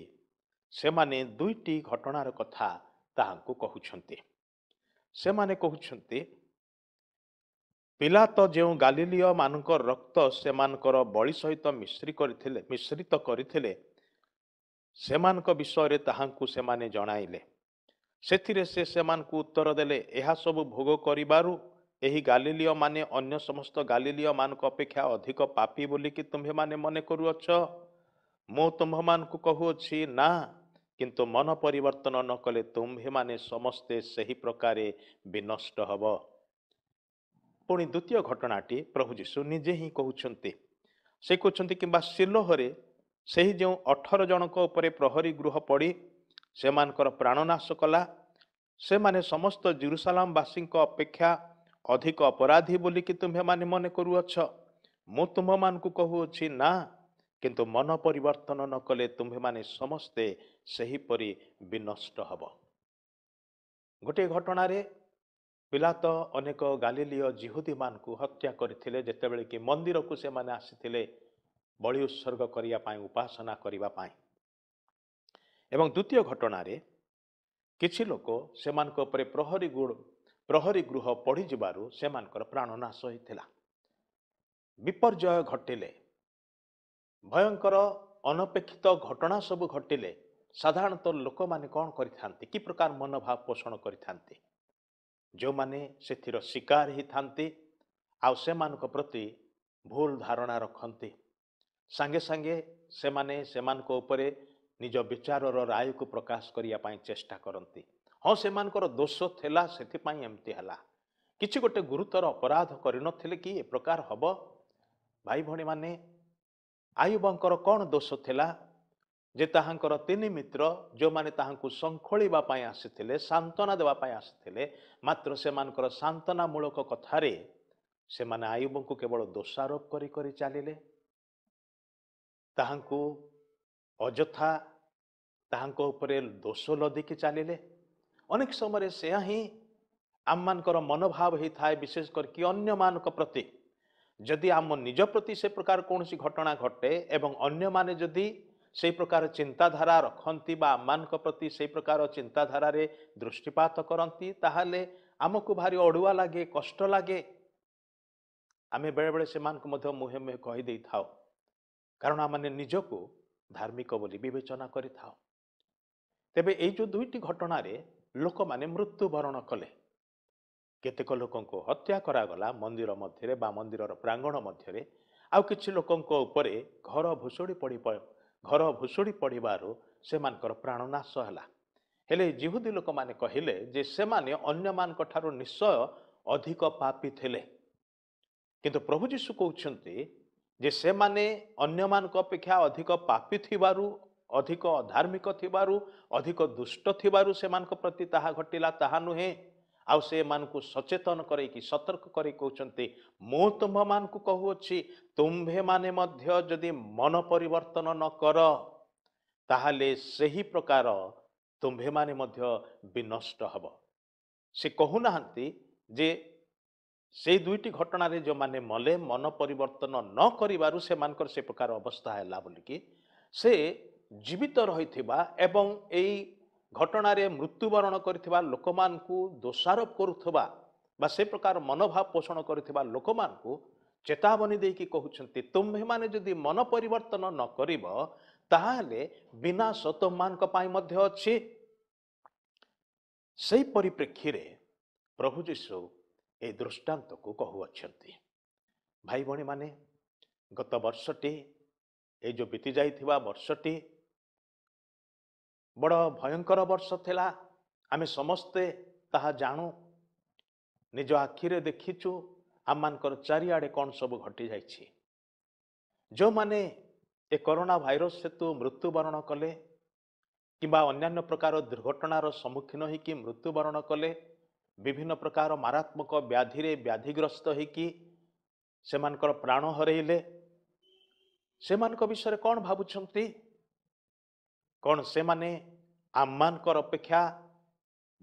ସେମାନେ 2ଟି ଘଟଣାର କଥା ତାହାଙ୍କୁ କହୁଛନ୍ତି। ସେମାନେ କହୁଛନ୍ତି, ପିଲାତ ଯେଉଁ ଗାଲିଲୀୟମାନଙ୍କ ରକ୍ତ ସେମାନଙ୍କର ବଳି ସହିତ ମିଶ୍ରିତ କରିଥିଲେ, ସେମାନଙ୍କ ବିଷୟରେ ତାହାଙ୍କୁ ସେମାନେ ଜଣାଇଲେ। ସେଥିରେ ସେ ସେମାନଙ୍କୁ ଉତ୍ତର ଦେଲେ, ଏହା ସବୁ ଭୋଗ କରିବାରୁ ଏହି ଗାଲିଲୀୟମାନେ ଅନ୍ୟ ସମସ୍ତ ଗାଲିଲୀୟମାନଙ୍କ ଅପେକ୍ଷା ଅଧିକ ପାପୀ ବୋଲିକି ତୁମ୍ଭେମାନେ ମନେ କରୁଅଛ? ମୁଁ ତୁମ୍ଭମାନଙ୍କୁ କହୁଅଛି ନା, କିନ୍ତୁ ମନ ପରିବର୍ତ୍ତନ ନ କଲେ ତୁମ୍ଭେମାନେ ସମସ୍ତେ ସେହି ପ୍ରକାରେ ବିନଷ୍ଟ ହେବ। ପୁଣି ଦ୍ୱିତୀୟ ଘଟଣାଟି ପ୍ରଭୁ ଯୀଶୁ ନିଜେ ହିଁ କହୁଛନ୍ତି। ସେ କହୁଛନ୍ତି, କିମ୍ବା ସିଲୋହରେ ସେହି ଯେଉଁ 18 ଜଣଙ୍କ ଉପରେ ପ୍ରହରୀ ଗୃହ ପଡ଼ି ସେମାନଙ୍କର ପ୍ରାଣନାଶ କଲା, ସେମାନେ ସମସ୍ତ ଜେରୁସାଲାମବାସୀଙ୍କ ଅପେକ୍ଷା ଅଧିକ ଅପରାଧୀ ବୋଲିକି ତୁମ୍ଭେମାନେ ମନେ କରୁଅଛ? ମୁଁ ତୁମ୍ଭମାନଙ୍କୁ କହୁଅଛି ନା, କିନ୍ତୁ ମନ ପରିବର୍ତ୍ତନ ନ କଲେ ତୁମ୍ଭେମାନେ ସମସ୍ତେ ସେହିପରି ବିନଷ୍ଟ ହେବ। ଗୋଟିଏ ଘଟଣାରେ ପିଲାତ ଅନେକ ଗାଲିଲୀୟ ଯିହୁଦୀମାନଙ୍କୁ ହତ୍ୟା କରିଥିଲେ, ଯେତେବେଳେ କି ମନ୍ଦିରକୁ ସେମାନେ ଆସିଥିଲେ ବଳି ଉତ୍ସର୍ଗ କରିବା ପାଇଁ, ଉପାସନା କରିବା ପାଇଁ। ଏବଂ ଦ୍ୱିତୀୟ ଘଟଣାରେ କିଛି ଲୋକ ସେମାନଙ୍କ ଉପରେ ପ୍ରହରୀ ଗୃହ ପଡ଼ିଯିବାରୁ ସେମାନଙ୍କର ପ୍ରାଣନାଶ ହୋଇଥିଲା। ବିପର୍ଯ୍ୟୟ ଘଟିଲେ ଭୟଙ୍କର ଅନପେକ୍ଷିତ ଘଟଣା ସବୁ ଘଟିଲେ ସାଧାରଣତଃ ଲୋକମାନେ କ'ଣ କରିଥାନ୍ତି, କି ପ୍ରକାର ମନୋଭାବ ପୋଷଣ କରିଥାନ୍ତି? ଯେଉଁମାନେ ସେଥିର ଶିକାର ହେଇଥାନ୍ତି ଆଉ ସେମାନଙ୍କ ପ୍ରତି ଭୁଲ ଧାରଣା ରଖନ୍ତି, ସାଙ୍ଗେ ସାଙ୍ଗେ ସେମାନେ ସେମାନଙ୍କ ଉପରେ ନିଜ ବିଚାରର ରାୟକୁ ପ୍ରକାଶ କରିବା ପାଇଁ ଚେଷ୍ଟା କରନ୍ତି। ହଁ, ସେମାନଙ୍କର ଦୋଷ ଥିଲା, ସେଥିପାଇଁ ଏମିତି ହେଲା, କିଛି ଗୋଟେ ଗୁରୁତର ଅପରାଧ କରିନଥିଲେ କି ଏ ପ୍ରକାର ହେବ? ଭାଇ ଭଉଣୀମାନେ, ଆୟୁବଙ୍କର କ'ଣ ଦୋଷ ଥିଲା ଯେ ତାହାଙ୍କର ତିନି ମିତ୍ର ଯେଉଁମାନେ ତାହାଙ୍କୁ ଶଙ୍ଖୋଳିବା ପାଇଁ ଆସିଥିଲେ, ସାନ୍ତ୍ୱନା ଦେବା ପାଇଁ ଆସିଥିଲେ, ମାତ୍ର ସେମାନଙ୍କର ସାନ୍ତ୍ୱନାମୂଳକ କଥାରେ ସେମାନେ ଆୟୁବଙ୍କୁ କେବଳ ଦୋଷାରୋପ କରି କରି ଚାଲିଲେ, ତାହାଙ୍କୁ ଅଯଥା ତାହାଙ୍କ ଉପରେ ଦୋଷ ଲଦିକି ଚାଲିଲେ। ଅନେକ ସମୟରେ ସେୟା ହିଁ ଆମମାନଙ୍କର ମନୋଭାବ ହେଇଥାଏ, ବିଶେଷ କରିକି ଅନ୍ୟମାନଙ୍କ ପ୍ରତି। ଯଦି ଆମ ନିଜ ପ୍ରତି ସେ ପ୍ରକାର କୌଣସି ଘଟଣା ଘଟେ ଏବଂ ଅନ୍ୟମାନେ ଯଦି ସେଇ ପ୍ରକାର ଚିନ୍ତାଧାରା ରଖନ୍ତି ବା ଆମମାନଙ୍କ ପ୍ରତି ସେଇ ପ୍ରକାର ଚିନ୍ତାଧାରାରେ ଦୃଷ୍ଟିପାତ କରନ୍ତି, ତାହେଲେ ଆମକୁ ଭାରି ଅଡ଼ୁଆ ଲାଗେ, କଷ୍ଟ ଲାଗେ। ଆମେ ବେଳେବେଳେ ସେମାନଙ୍କୁ ମଧ୍ୟ ମୁହେଁ ମୁହେଁ କହିଦେଇଥାଉ, କାରଣ ଆମମାନେ ନିଜକୁ ଧାର୍ମିକ ବୋଲି ବିବେଚନା କରିଥାଉ। ତେବେ ଏଇ ଯେଉଁ ଦୁଇଟି ଘଟଣାରେ ଲୋକମାନେ ମୃତ୍ୟୁବରଣ କଲେ, କେତେକ ଲୋକଙ୍କୁ ହତ୍ୟା କରାଗଲା ମନ୍ଦିର ମଧ୍ୟରେ ବା ମନ୍ଦିରର ପ୍ରାଙ୍ଗଣ ମଧ୍ୟରେ, ଆଉ କିଛି ଲୋକଙ୍କ ଉପରେ ଘର ଭୁଷୁଡ଼ି ପଡ଼ିବାରୁ ସେମାନଙ୍କର ପ୍ରାଣନାଶ ହେଲା। ହେଲେ ଯିହୁଦୀ ଲୋକମାନେ କହିଲେ ଯେ ସେମାନେ ଅନ୍ୟମାନଙ୍କ ଠାରୁ ନିଶ୍ଚୟ ଅଧିକ ପାପୀ ଥିଲେ। କିନ୍ତୁ ପ୍ରଭୁ ଯୀଶୁ କହୁଛନ୍ତି ଯେ ସେମାନେ ଅନ୍ୟମାନଙ୍କ ଅପେକ୍ଷା ଅଧିକ ପାପୀ ଥିବାରୁ, ଅଧିକ ଅଧାର୍ମିକ ଥିବାରୁ, ଅଧିକ ଦୁଷ୍ଟ ଥିବାରୁ ସେମାନଙ୍କ ପ୍ରତି ତାହା ଘଟିଲା ତାହା ନୁହେଁ। ଆଉ ସେମାନଙ୍କୁ ସଚେତନ କରେଇକି ସତର୍କ କରେଇ କହୁଛନ୍ତି, ମୁଁ ତୁମ୍ଭମାନଙ୍କୁ କହୁଅଛି, ତୁମ୍ଭେମାନେ ମଧ୍ୟ ଯଦି ମନ ପରିବର୍ତ୍ତନ ନ କର ତାହେଲେ ସେହି ପ୍ରକାର ତୁମ୍ଭେମାନେ ମଧ୍ୟ ବିନଷ୍ଟ ହେବ। ସେ କହୁନାହାନ୍ତି ଯେ ସେଇ ଦୁଇଟି ଘଟଣାରେ ଯେଉଁମାନେ ମଲେ ମନ ପରିବର୍ତ୍ତନ ନ କରିବାରୁ ସେମାନଙ୍କର ସେ ପ୍ରକାର ଅବସ୍ଥା ହେଲା ବୋଲିକି। ସେ ଜୀବିତ ରହିଥିବା ଏବଂ ଏଇ ଘଟଣାରେ ମୃତ୍ୟୁବରଣ କରିଥିବା ଲୋକମାନଙ୍କୁ ଦୋଷାରୋପ କରୁଥିବା ବା ସେ ପ୍ରକାର ମନୋଭାବ ପୋଷଣ କରୁଥିବା ଲୋକମାନଙ୍କୁ ଚେତାବନୀ ଦେଇକି କହୁଛନ୍ତି, ତୁମ୍ଭେମାନେ ଯଦି ମନ ପରିବର୍ତ୍ତନ ନ କରିବ ତାହେଲେ ବିନାଶ ତୁମମାନଙ୍କ ପାଇଁ ମଧ୍ୟ ଅଛି। ସେଇ ପରିପ୍ରେକ୍ଷୀରେ ପ୍ରଭୁ ଯୀଶୁ ଏହି ଦୃଷ୍ଟାନ୍ତକୁ କହୁଅଛନ୍ତି। ଭାଇ ଭଉଣୀମାନେ, ଗତ ବର୍ଷଟି, ଏଇ ଯେଉଁ ବିତି ଯାଇଥିବା ବର୍ଷଟି ବଡ଼ ଭୟଙ୍କର ବର୍ଷ ଥିଲା। ଆମେ ସମସ୍ତେ ତାହା ଜାଣୁ, ନିଜ ଆଖିରେ ଦେଖିଛୁ ଆମମାନଙ୍କର ଚାରିଆଡ଼େ କ'ଣ ସବୁ ଘଟିଯାଇଛି। ଯେଉଁମାନେ ଏ କରୋନା ଭାଇରସ ହେତୁ ମୃତ୍ୟୁବରଣ କଲେ କିମ୍ବା ଅନ୍ୟାନ୍ୟ ପ୍ରକାର ଦୁର୍ଘଟଣାର ସମ୍ମୁଖୀନ ହେଇକି ମୃତ୍ୟୁବରଣ କଲେ, ବିଭିନ୍ନ ପ୍ରକାର ମାରାତ୍ମକ ବ୍ୟାଧିରେ ବ୍ୟାଧିଗ୍ରସ୍ତ ହେଇକି ସେମାନଙ୍କର ପ୍ରାଣ ହରେଇଲେ, ସେମାନଙ୍କ ବିଷୟରେ କ'ଣ ଭାବୁଛନ୍ତି? କ'ଣ ସେମାନେ ଆମମାନଙ୍କର ଅପେକ୍ଷା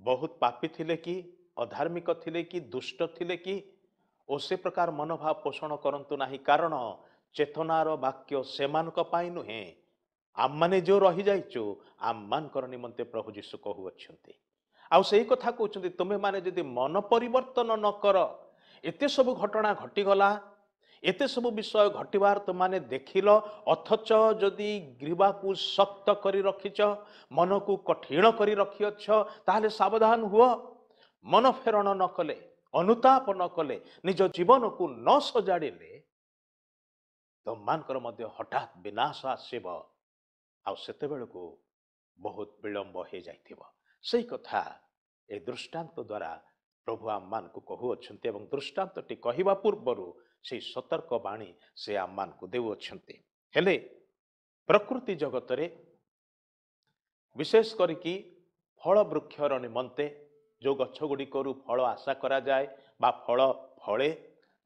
ବହୁତ ପାପୀ ଥିଲେ କି, ଅଧାର୍ମିକ ଥିଲେ କି, ଦୁଷ୍ଟ ଥିଲେ କି? ଓ ସେ ପ୍ରକାର ମନୋଭାବ ପୋଷଣ କରନ୍ତୁ ନାହିଁ, କାରଣ ଚେତନାର ବାକ୍ୟ ସେମାନଙ୍କ ପାଇଁ ନୁହେଁ, ଆମମାନେ ଯେଉଁ ରହିଯାଇଛୁ ଆମମାନଙ୍କର ନିମନ୍ତେ ପ୍ରଭୁ ଯୀଶୁ କହୁଅଛନ୍ତି। ଆଉ ସେଇ କଥା କହୁଛନ୍ତି, ତୁମେମାନେ ଯଦି ମନ ପରିବର୍ତ୍ତନ ନ କର, ଏତେ ସବୁ ଘଟଣା ଘଟିଗଲା, ଏତେ ସବୁ ବିଷୟ ଘଟିବାର ତୁମମାନେ ଦେଖିଲ, ଅଥଚ ଯଦି ଗ୍ରୀବାକୁ ଶକ୍ତ କରି ରଖିଛ, ମନକୁ କଠିନ କରି ରଖିଅଛ, ତାହେଲେ ସାବଧାନ ହୁଅ। ମନ ଫେରଣ ନ କଲେ, ଅନୁତାପ ନ କଲେ, ନିଜ ଜୀବନକୁ ନ ସଜାଡ଼ିଲେ ତୁମମାନଙ୍କର ମଧ୍ୟ ହଠାତ୍ ବିନାଶ ଆସିବ, ଆଉ ସେତେବେଳକୁ ବହୁତ ବିଳମ୍ବ ହେଇଯାଇଥିବ। ସେଇ କଥା ଏ ଦୃଷ୍ଟାନ୍ତ ଦ୍ୱାରା ପ୍ରଭୁ ଆମମାନଙ୍କୁ କହୁଅଛନ୍ତି ଏବଂ ଦୃଷ୍ଟାନ୍ତଟି କହିବା ପୂର୍ବରୁ ସେଇ ସତର୍କ ବାଣୀ ସେ ଆମମାନଙ୍କୁ ଦେଉଅଛନ୍ତି। ହେଲେ ପ୍ରକୃତି ଜଗତରେ ବିଶେଷ କରିକି ଫଳ ବୃକ୍ଷର ନିମନ୍ତେ ଯେଉଁ ଗଛ ଗୁଡ଼ିକରୁ ଫଳ ଆଶା କରାଯାଏ ବା ଫଳ ଫଳେ,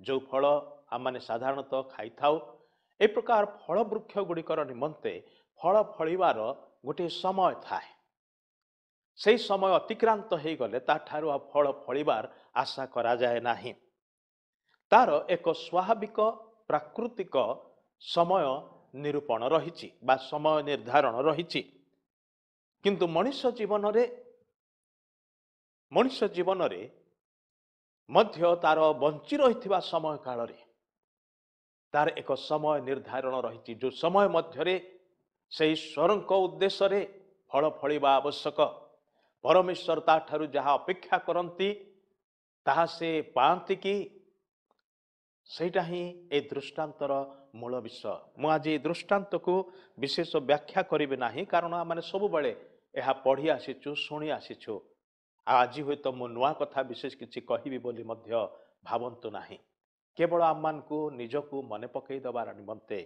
ଯେଉଁ ଫଳ ଆମମାନେ ସାଧାରଣତଃ ଖାଇଥାଉ, ଏ ପ୍ରକାର ଫଳ ବୃକ୍ଷ ଗୁଡ଼ିକର ନିମନ୍ତେ ଫଳ ଫଳିବାର ଗୋଟିଏ ସମୟ ଥାଏ। ସେଇ ସମୟ ଅତିକ୍ରାନ୍ତ ହେଇଗଲେ ତାଠାରୁ ଆଉ ଫଳ ଫଳିବାର ଆଶା କରାଯାଏ ନାହିଁ। ତାର ଏକ ସ୍ୱାଭାବିକ ପ୍ରାକୃତିକ ସମୟ ନିରୂପଣ ରହିଛି ବା ସମୟ ନିର୍ଦ୍ଧାରଣ ରହିଛି। କିନ୍ତୁ ମଣିଷ ଜୀବନରେ ମଧ୍ୟ ତାର ବଞ୍ଚି ରହିଥିବା ସମୟ କାଳରେ ତାର ଏକ ସମୟ ନିର୍ଦ୍ଧାରଣ ରହିଛି, ଯେଉଁ ସମୟ ମଧ୍ୟରେ ସେ ଈଶ୍ୱରଙ୍କ ଉଦ୍ଦେଶ୍ୟରେ ଫଳ ଫଳିବା ଆବଶ୍ୟକ। ପରମେଶ୍ୱର ତାଠାରୁ ଯାହା ଅପେକ୍ଷା କରନ୍ତି ତାହା ସେ ପାଆନ୍ତି କି, ସେଇଟା ହିଁ ଏ ଦୃଷ୍ଟାନ୍ତର ମୂଳ ବିଷୟ। ମୁଁ ଆଜି ଏ ଦୃଷ୍ଟାନ୍ତକୁ ବିଶେଷ ବ୍ୟାଖ୍ୟା କରିବି ନାହିଁ, କାରଣ ଆମେ ସବୁବେଳେ ଏହା ପଢ଼ି ଆସିଛୁ, ଶୁଣି ଆସିଛୁ। ଆଉ ଆଜି ହୁଏତ ମୁଁ ନୂଆ କଥା ବିଶେଷ କିଛି କହିବି ବୋଲି ମଧ୍ୟ ଭାବନ୍ତୁ ନାହିଁ। କେବଳ ଆମମାନଙ୍କୁ ନିଜକୁ ମନେ ପକାଇ ଦେବାର ନିମନ୍ତେ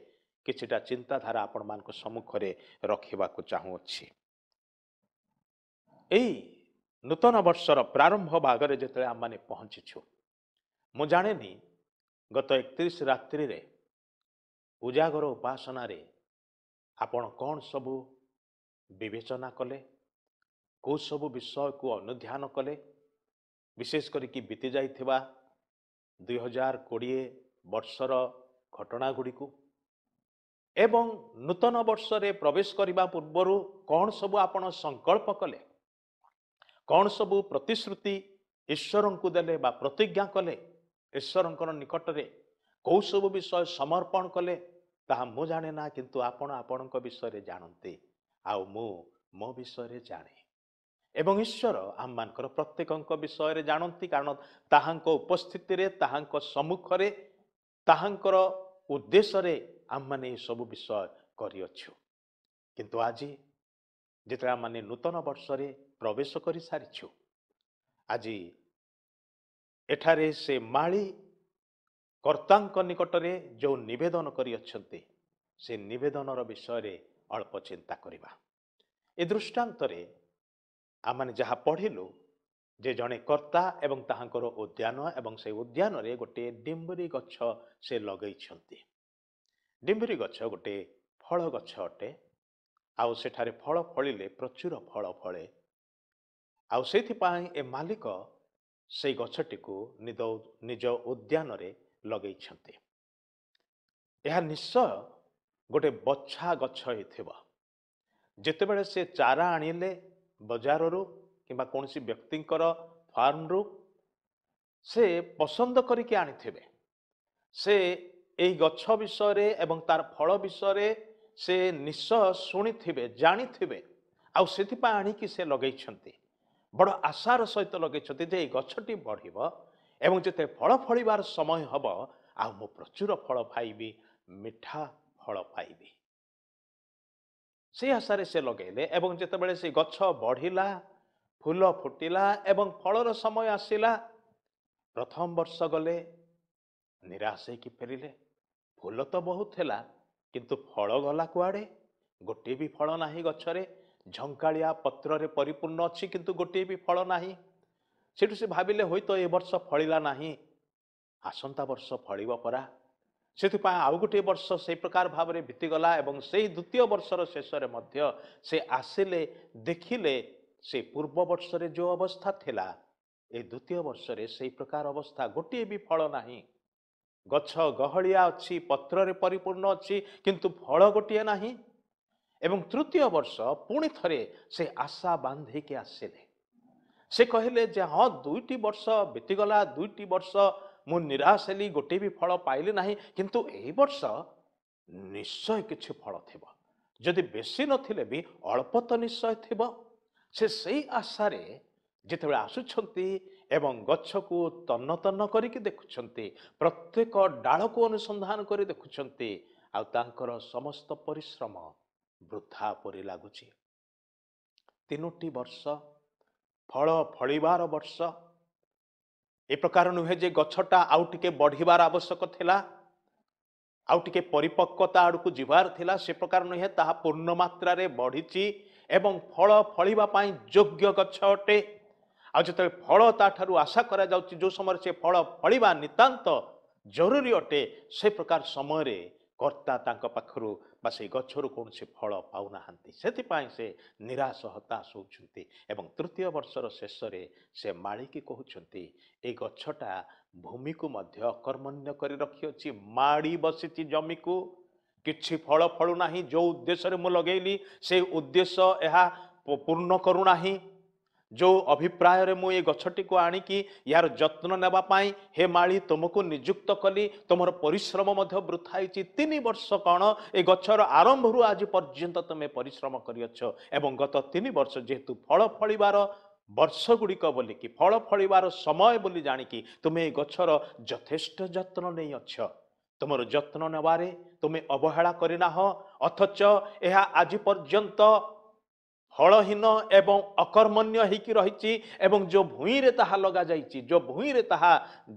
କିଛିଟା ଚିନ୍ତାଧାରା ଆପଣମାନଙ୍କ ସମ୍ମୁଖରେ ରଖିବାକୁ ଚାହୁଁଅଛି। ଏଇ ନୂତନ ବର୍ଷର ପ୍ରାରମ୍ଭ ଭାଗରେ ଯେତେବେଳେ ଆମମାନେ ପହଞ୍ଚିଛୁ, ମୁଁ ଜାଣେନି ଗତ 31 ରାତ୍ରିରେ ଉଜାଗର ଉପାସନାରେ ଆପଣ କ'ଣ ସବୁ ବିବେଚନା କଲେ, କେଉଁ ସବୁ ବିଷୟକୁ ଅନୁଧ୍ୟାନ କଲେ, ବିଶେଷ କରିକି ବିତି ଯାଇଥିବା 2020 ବର୍ଷର ଘଟଣା ଗୁଡ଼ିକୁ ଏବଂ ନୂତନ ବର୍ଷରେ ପ୍ରବେଶ କରିବା ପୂର୍ବରୁ କ'ଣ ସବୁ ଆପଣ ସଂକଳ୍ପ କଲେ, କ'ଣ ସବୁ ପ୍ରତିଶ୍ରୁତି ଈଶ୍ୱରଙ୍କୁ ଦେଲେ ବା ପ୍ରତିଜ୍ଞା କଲେ ଈଶ୍ୱରଙ୍କର ନିକଟରେ, କେଉଁ ସବୁ ବିଷୟ ସମର୍ପଣ କଲେ ତାହା ମୁଁ ଜାଣେ ନା, କିନ୍ତୁ ଆପଣ ଆପଣଙ୍କ ବିଷୟରେ ଜାଣନ୍ତି ଆଉ ମୁଁ ମୋ ବିଷୟରେ ଜାଣେ। ଏବଂ ଈଶ୍ୱର ଆମମାନଙ୍କର ପ୍ରତ୍ୟେକଙ୍କ ବିଷୟରେ ଜାଣନ୍ତି, କାରଣ ତାହାଙ୍କ ଉପସ୍ଥିତିରେ, ତାହାଙ୍କ ସମ୍ମୁଖରେ, ତାହାଙ୍କର ଉଦ୍ଦେଶ୍ୟରେ ଆମମାନେ ଏସବୁ ବିଷୟ କରିଅଛୁ। କିନ୍ତୁ ଆଜି ଯେତେବେଳେ ଆମମାନେ ନୂତନ ବର୍ଷରେ ପ୍ରବେଶ କରିସାରିଛୁ, ଆଜି ଏଠାରେ ସେ ମାଳି କର୍ତ୍ତାଙ୍କ ନିକଟରେ ଯେଉଁ ନିବେଦନ କରିଅଛନ୍ତି, ସେ ନିବେଦନର ବିଷୟରେ ଅଳ୍ପ ଚିନ୍ତା କରିବା। ଏ ଦୃଷ୍ଟାନ୍ତରେ ଆମମାନେ ଯାହା ପଢ଼ିଲୁ ଯେ ଜଣେ କର୍ତ୍ତା ଏବଂ ତାହାଙ୍କର ଉଦ୍ୟାନ, ଏବଂ ସେ ଉଦ୍ୟାନରେ ଗୋଟିଏ ଡିମ୍ବରି ଗଛ ସେ ଲଗେଇଛନ୍ତି। ଡିମ୍ବରି ଗଛ ଗୋଟିଏ ଫଳ ଗଛ ଅଟେ, ଆଉ ସେଠାରେ ଫଳ ଫଳିଲେ ପ୍ରଚୁର ଫଳ ଫଳେ। ଆଉ ସେଇଥିପାଇଁ ଏ ମାଲିକ ସେଇ ଗଛଟିକୁ ନିଜ ଉଦ୍ୟାନରେ ଲଗେଇଛନ୍ତି। ଏହା ନିଶ୍ଚୟ ଗୋଟେ ବଛା ଗଛ ହେଇଥିବ। ଯେତେବେଳେ ସେ ଚାରା ଆଣିଲେ ବଜାରରୁ କିମ୍ବା କୌଣସି ବ୍ୟକ୍ତିଙ୍କର ଫାର୍ମରୁ, ସେ ପସନ୍ଦ କରିକି ଆଣିଥିବେ। ସେ ଏଇ ଗଛ ବିଷୟରେ ଏବଂ ତାର ଫଳ ବିଷୟରେ ସେ ନିଶ୍ଚୟ ଶୁଣିଥିବେ, ଜାଣିଥିବେ, ଆଉ ସେଥିପାଇଁ ଆଣିକି ସେ ଲଗେଇଛନ୍ତି। ବଡ଼ ଆଶାର ସହିତ ଲଗେଇଛନ୍ତି ଯେ ଏଇ ଗଛଟି ବଢ଼ିବ ଏବଂ ଯେତେ ଫଳ ଫଳିବାର ସମୟ ହେବ ଆଉ ମୁଁ ପ୍ରଚୁର ଫଳ ପାଇବି, ମିଠା ଫଳ ପାଇବି। ସେଇ ଆଶାରେ ସେ ଲଗେଇଲେ ଏବଂ ଯେତେବେଳେ ସେ ଗଛ ବଢ଼ିଲା, ଫୁଲ ଫୁଟିଲା ଏବଂ ଫଳର ସମୟ ଆସିଲା, ପ୍ରଥମ ବର୍ଷ ଗଲେ ନିରାଶ ହେଇକି ଫେରିଲେ। ଫୁଲ ତ ବହୁତ ହେଲା, କିନ୍ତୁ ଫଳ ଗଲା କୁଆଡ଼େ? ଗୋଟିଏ ବି ଫଳ ନାହିଁ ଗଛରେ। ଝଙ୍କାଳିଆ ପତ୍ରରେ ପରିପୂର୍ଣ୍ଣ ଅଛି, କିନ୍ତୁ ଗୋଟିଏ ବି ଫଳ ନାହିଁ। ସେଠୁ ସେ ଭାବିଲେ ହୁଏତ ଏ ବର୍ଷ ଫଳିଲା ନାହିଁ, ଆସନ୍ତା ବର୍ଷ ଫଳିବ ପରା। ସେଥିପାଇଁ ଆଉ ଗୋଟିଏ ବର୍ଷ ସେଇ ପ୍ରକାର ଭାବରେ ବିତିଗଲା ଏବଂ ସେଇ ଦ୍ୱିତୀୟ ବର୍ଷର ଶେଷରେ ମଧ୍ୟ ସେ ଆସିଲେ, ଦେଖିଲେ ସେ ପୂର୍ବ ବର୍ଷରେ ଯେଉଁ ଅବସ୍ଥା ଥିଲା ଏ ଦ୍ୱିତୀୟ ବର୍ଷରେ ସେଇ ପ୍ରକାର ଅବସ୍ଥା, ଗୋଟିଏ ବି ଫଳ ନାହିଁ। ଗଛ ଗହଳିଆ ଅଛି, ପତ୍ରରେ ପରିପୂର୍ଣ୍ଣ ଅଛି, କିନ୍ତୁ ଫଳ ଗୋଟିଏ ନାହିଁ। ଏବଂ ତୃତୀୟ ବର୍ଷ ପୁଣି ଥରେ ସେ ଆଶା ବାନ୍ଧିକି ଆସିଲେ। ସେ କହିଲେ ଯେ ହଁ, 2ଟି ବର୍ଷ ବିତିଗଲା, 2ଟି ବର୍ଷ ମୁଁ ନିରାଶ ହେଲି, ଗୋଟିଏ ବି ଫଳ ପାଇଲି ନାହିଁ, କିନ୍ତୁ ଏଇ ବର୍ଷ ନିଶ୍ଚୟ କିଛି ଫଳ ଥିବ, ଯଦି ବେଶୀ ନଥିଲେ ବି ଅଳ୍ପ ତ ନିଶ୍ଚୟ ଥିବ। ସେ ସେଇ ଆଶାରେ ଯେତେବେଳେ ଆସୁଛନ୍ତି ଏବଂ ଗଛକୁ ତନ୍ନ ତନ୍ନ କରିକି ଦେଖୁଛନ୍ତି, ପ୍ରତ୍ୟେକ ଡାଳକୁ ଅନୁସନ୍ଧାନ କରି ଦେଖୁଛନ୍ତି, ଆଉ ତାଙ୍କର ସମସ୍ତ ପରିଶ୍ରମ ବୃଥା ପରି ଲାଗୁଛି। 3ଟି ବର୍ଷ ଫଳ ଫଳିବାର ବର୍ଷ, ଏ ପ୍ରକାର ନୁହେଁ ଯେ ଗଛଟା ଆଉ ଟିକେ ବଢ଼ିବାର ଆବଶ୍ୟକ ଥିଲା, ଆଉ ଟିକେ ପରିପକ୍ୱତା ଆଡ଼କୁ ଯିବାର ଥିଲା, ସେ ପ୍ରକାର ନୁହେଁ। ତାହା ପୂର୍ଣ୍ଣ ମାତ୍ରାରେ ବଢ଼ିଛି ଏବଂ ଫଳ ଫଳିବା ପାଇଁ ଯୋଗ୍ୟ ଗଛ ଅଟେ। ଆଉ ଯେତେବେଳେ ଫଳ ତାଠାରୁ ଆଶା କରାଯାଉଛି, ଯେଉଁ ସମୟରେ ସେ ଫଳ ଫଳିବା ନିତାନ୍ତ ଜରୁରୀ ଅଟେ, ସେ ପ୍ରକାର ସମୟରେ କର୍ତ୍ତା ତାଙ୍କ ପାଖରୁ ବା ସେଇ ଗଛରୁ କୌଣସି ଫଳ ପାଉନାହାନ୍ତି। ସେଥିପାଇଁ ସେ ନିରାଶ ହତାଶ ହେଉଛନ୍ତି ଏବଂ ତୃତୀୟ ବର୍ଷର ଶେଷରେ ସେ ମାଳିକି କହୁଛନ୍ତି, ଏଇ ଗଛଟା ଭୂମିକୁ ମଧ୍ୟ ଅକର୍ମଣ୍ୟ କରି ରଖିଅଛି, ମାଡ଼ି ବସିଛି ଜମିକୁ, କିଛି ଫଳ ଫଳୁନାହିଁ। ଯେଉଁ ଉଦ୍ଦେଶ୍ୟରେ ମୁଁ ଲଗେଇଲି ସେ ଉଦ୍ଦେଶ୍ୟ ଏହା ପୂର୍ଣ୍ଣ କରୁନାହିଁ। ଯେଉଁ ଅଭିପ୍ରାୟରେ ମୁଁ ଏ ଗଛଟିକୁ ଆଣିକି ୟାର ଯତ୍ନ ନେବା ପାଇଁ ହେ ମାଳି ତୁମକୁ ନିଯୁକ୍ତ କଲି, ତୁମର ପରିଶ୍ରମ ମଧ୍ୟ ବୃଥା ହେଇଛି। 3 ବର୍ଷ କ'ଣ, ଏ ଗଛର ଆରମ୍ଭରୁ ଆଜି ପର୍ଯ୍ୟନ୍ତ ତୁମେ ପରିଶ୍ରମ କରିଅଛ ଏବଂ ଗତ 3 ବର୍ଷ ଯେହେତୁ ଫଳ ଫଳିବାର ବର୍ଷ ଗୁଡ଼ିକ ବୋଲିକି, ଫଳ ଫଳିବାର ସମୟ ବୋଲି ଜାଣିକି ତୁମେ ଏ ଗଛର ଯଥେଷ୍ଟ ଯତ୍ନ ନେଇଅଛ। ତୁମର ଯତ୍ନ ନେବାରେ ତୁମେ ଅବହେଳା କରିନାହ, ଅଥଚ ଏହା ଆଜି ପର୍ଯ୍ୟନ୍ତ ଫଳହୀନ ଏବଂ ଅକର୍ମଣ୍ୟ ହେଇକି ରହିଛି ଏବଂ ଯେଉଁ ଭୂଇଁରେ ତାହା ଲଗାଯାଇଛି, ଯେଉଁ ଭୂଇଁରେ ତାହା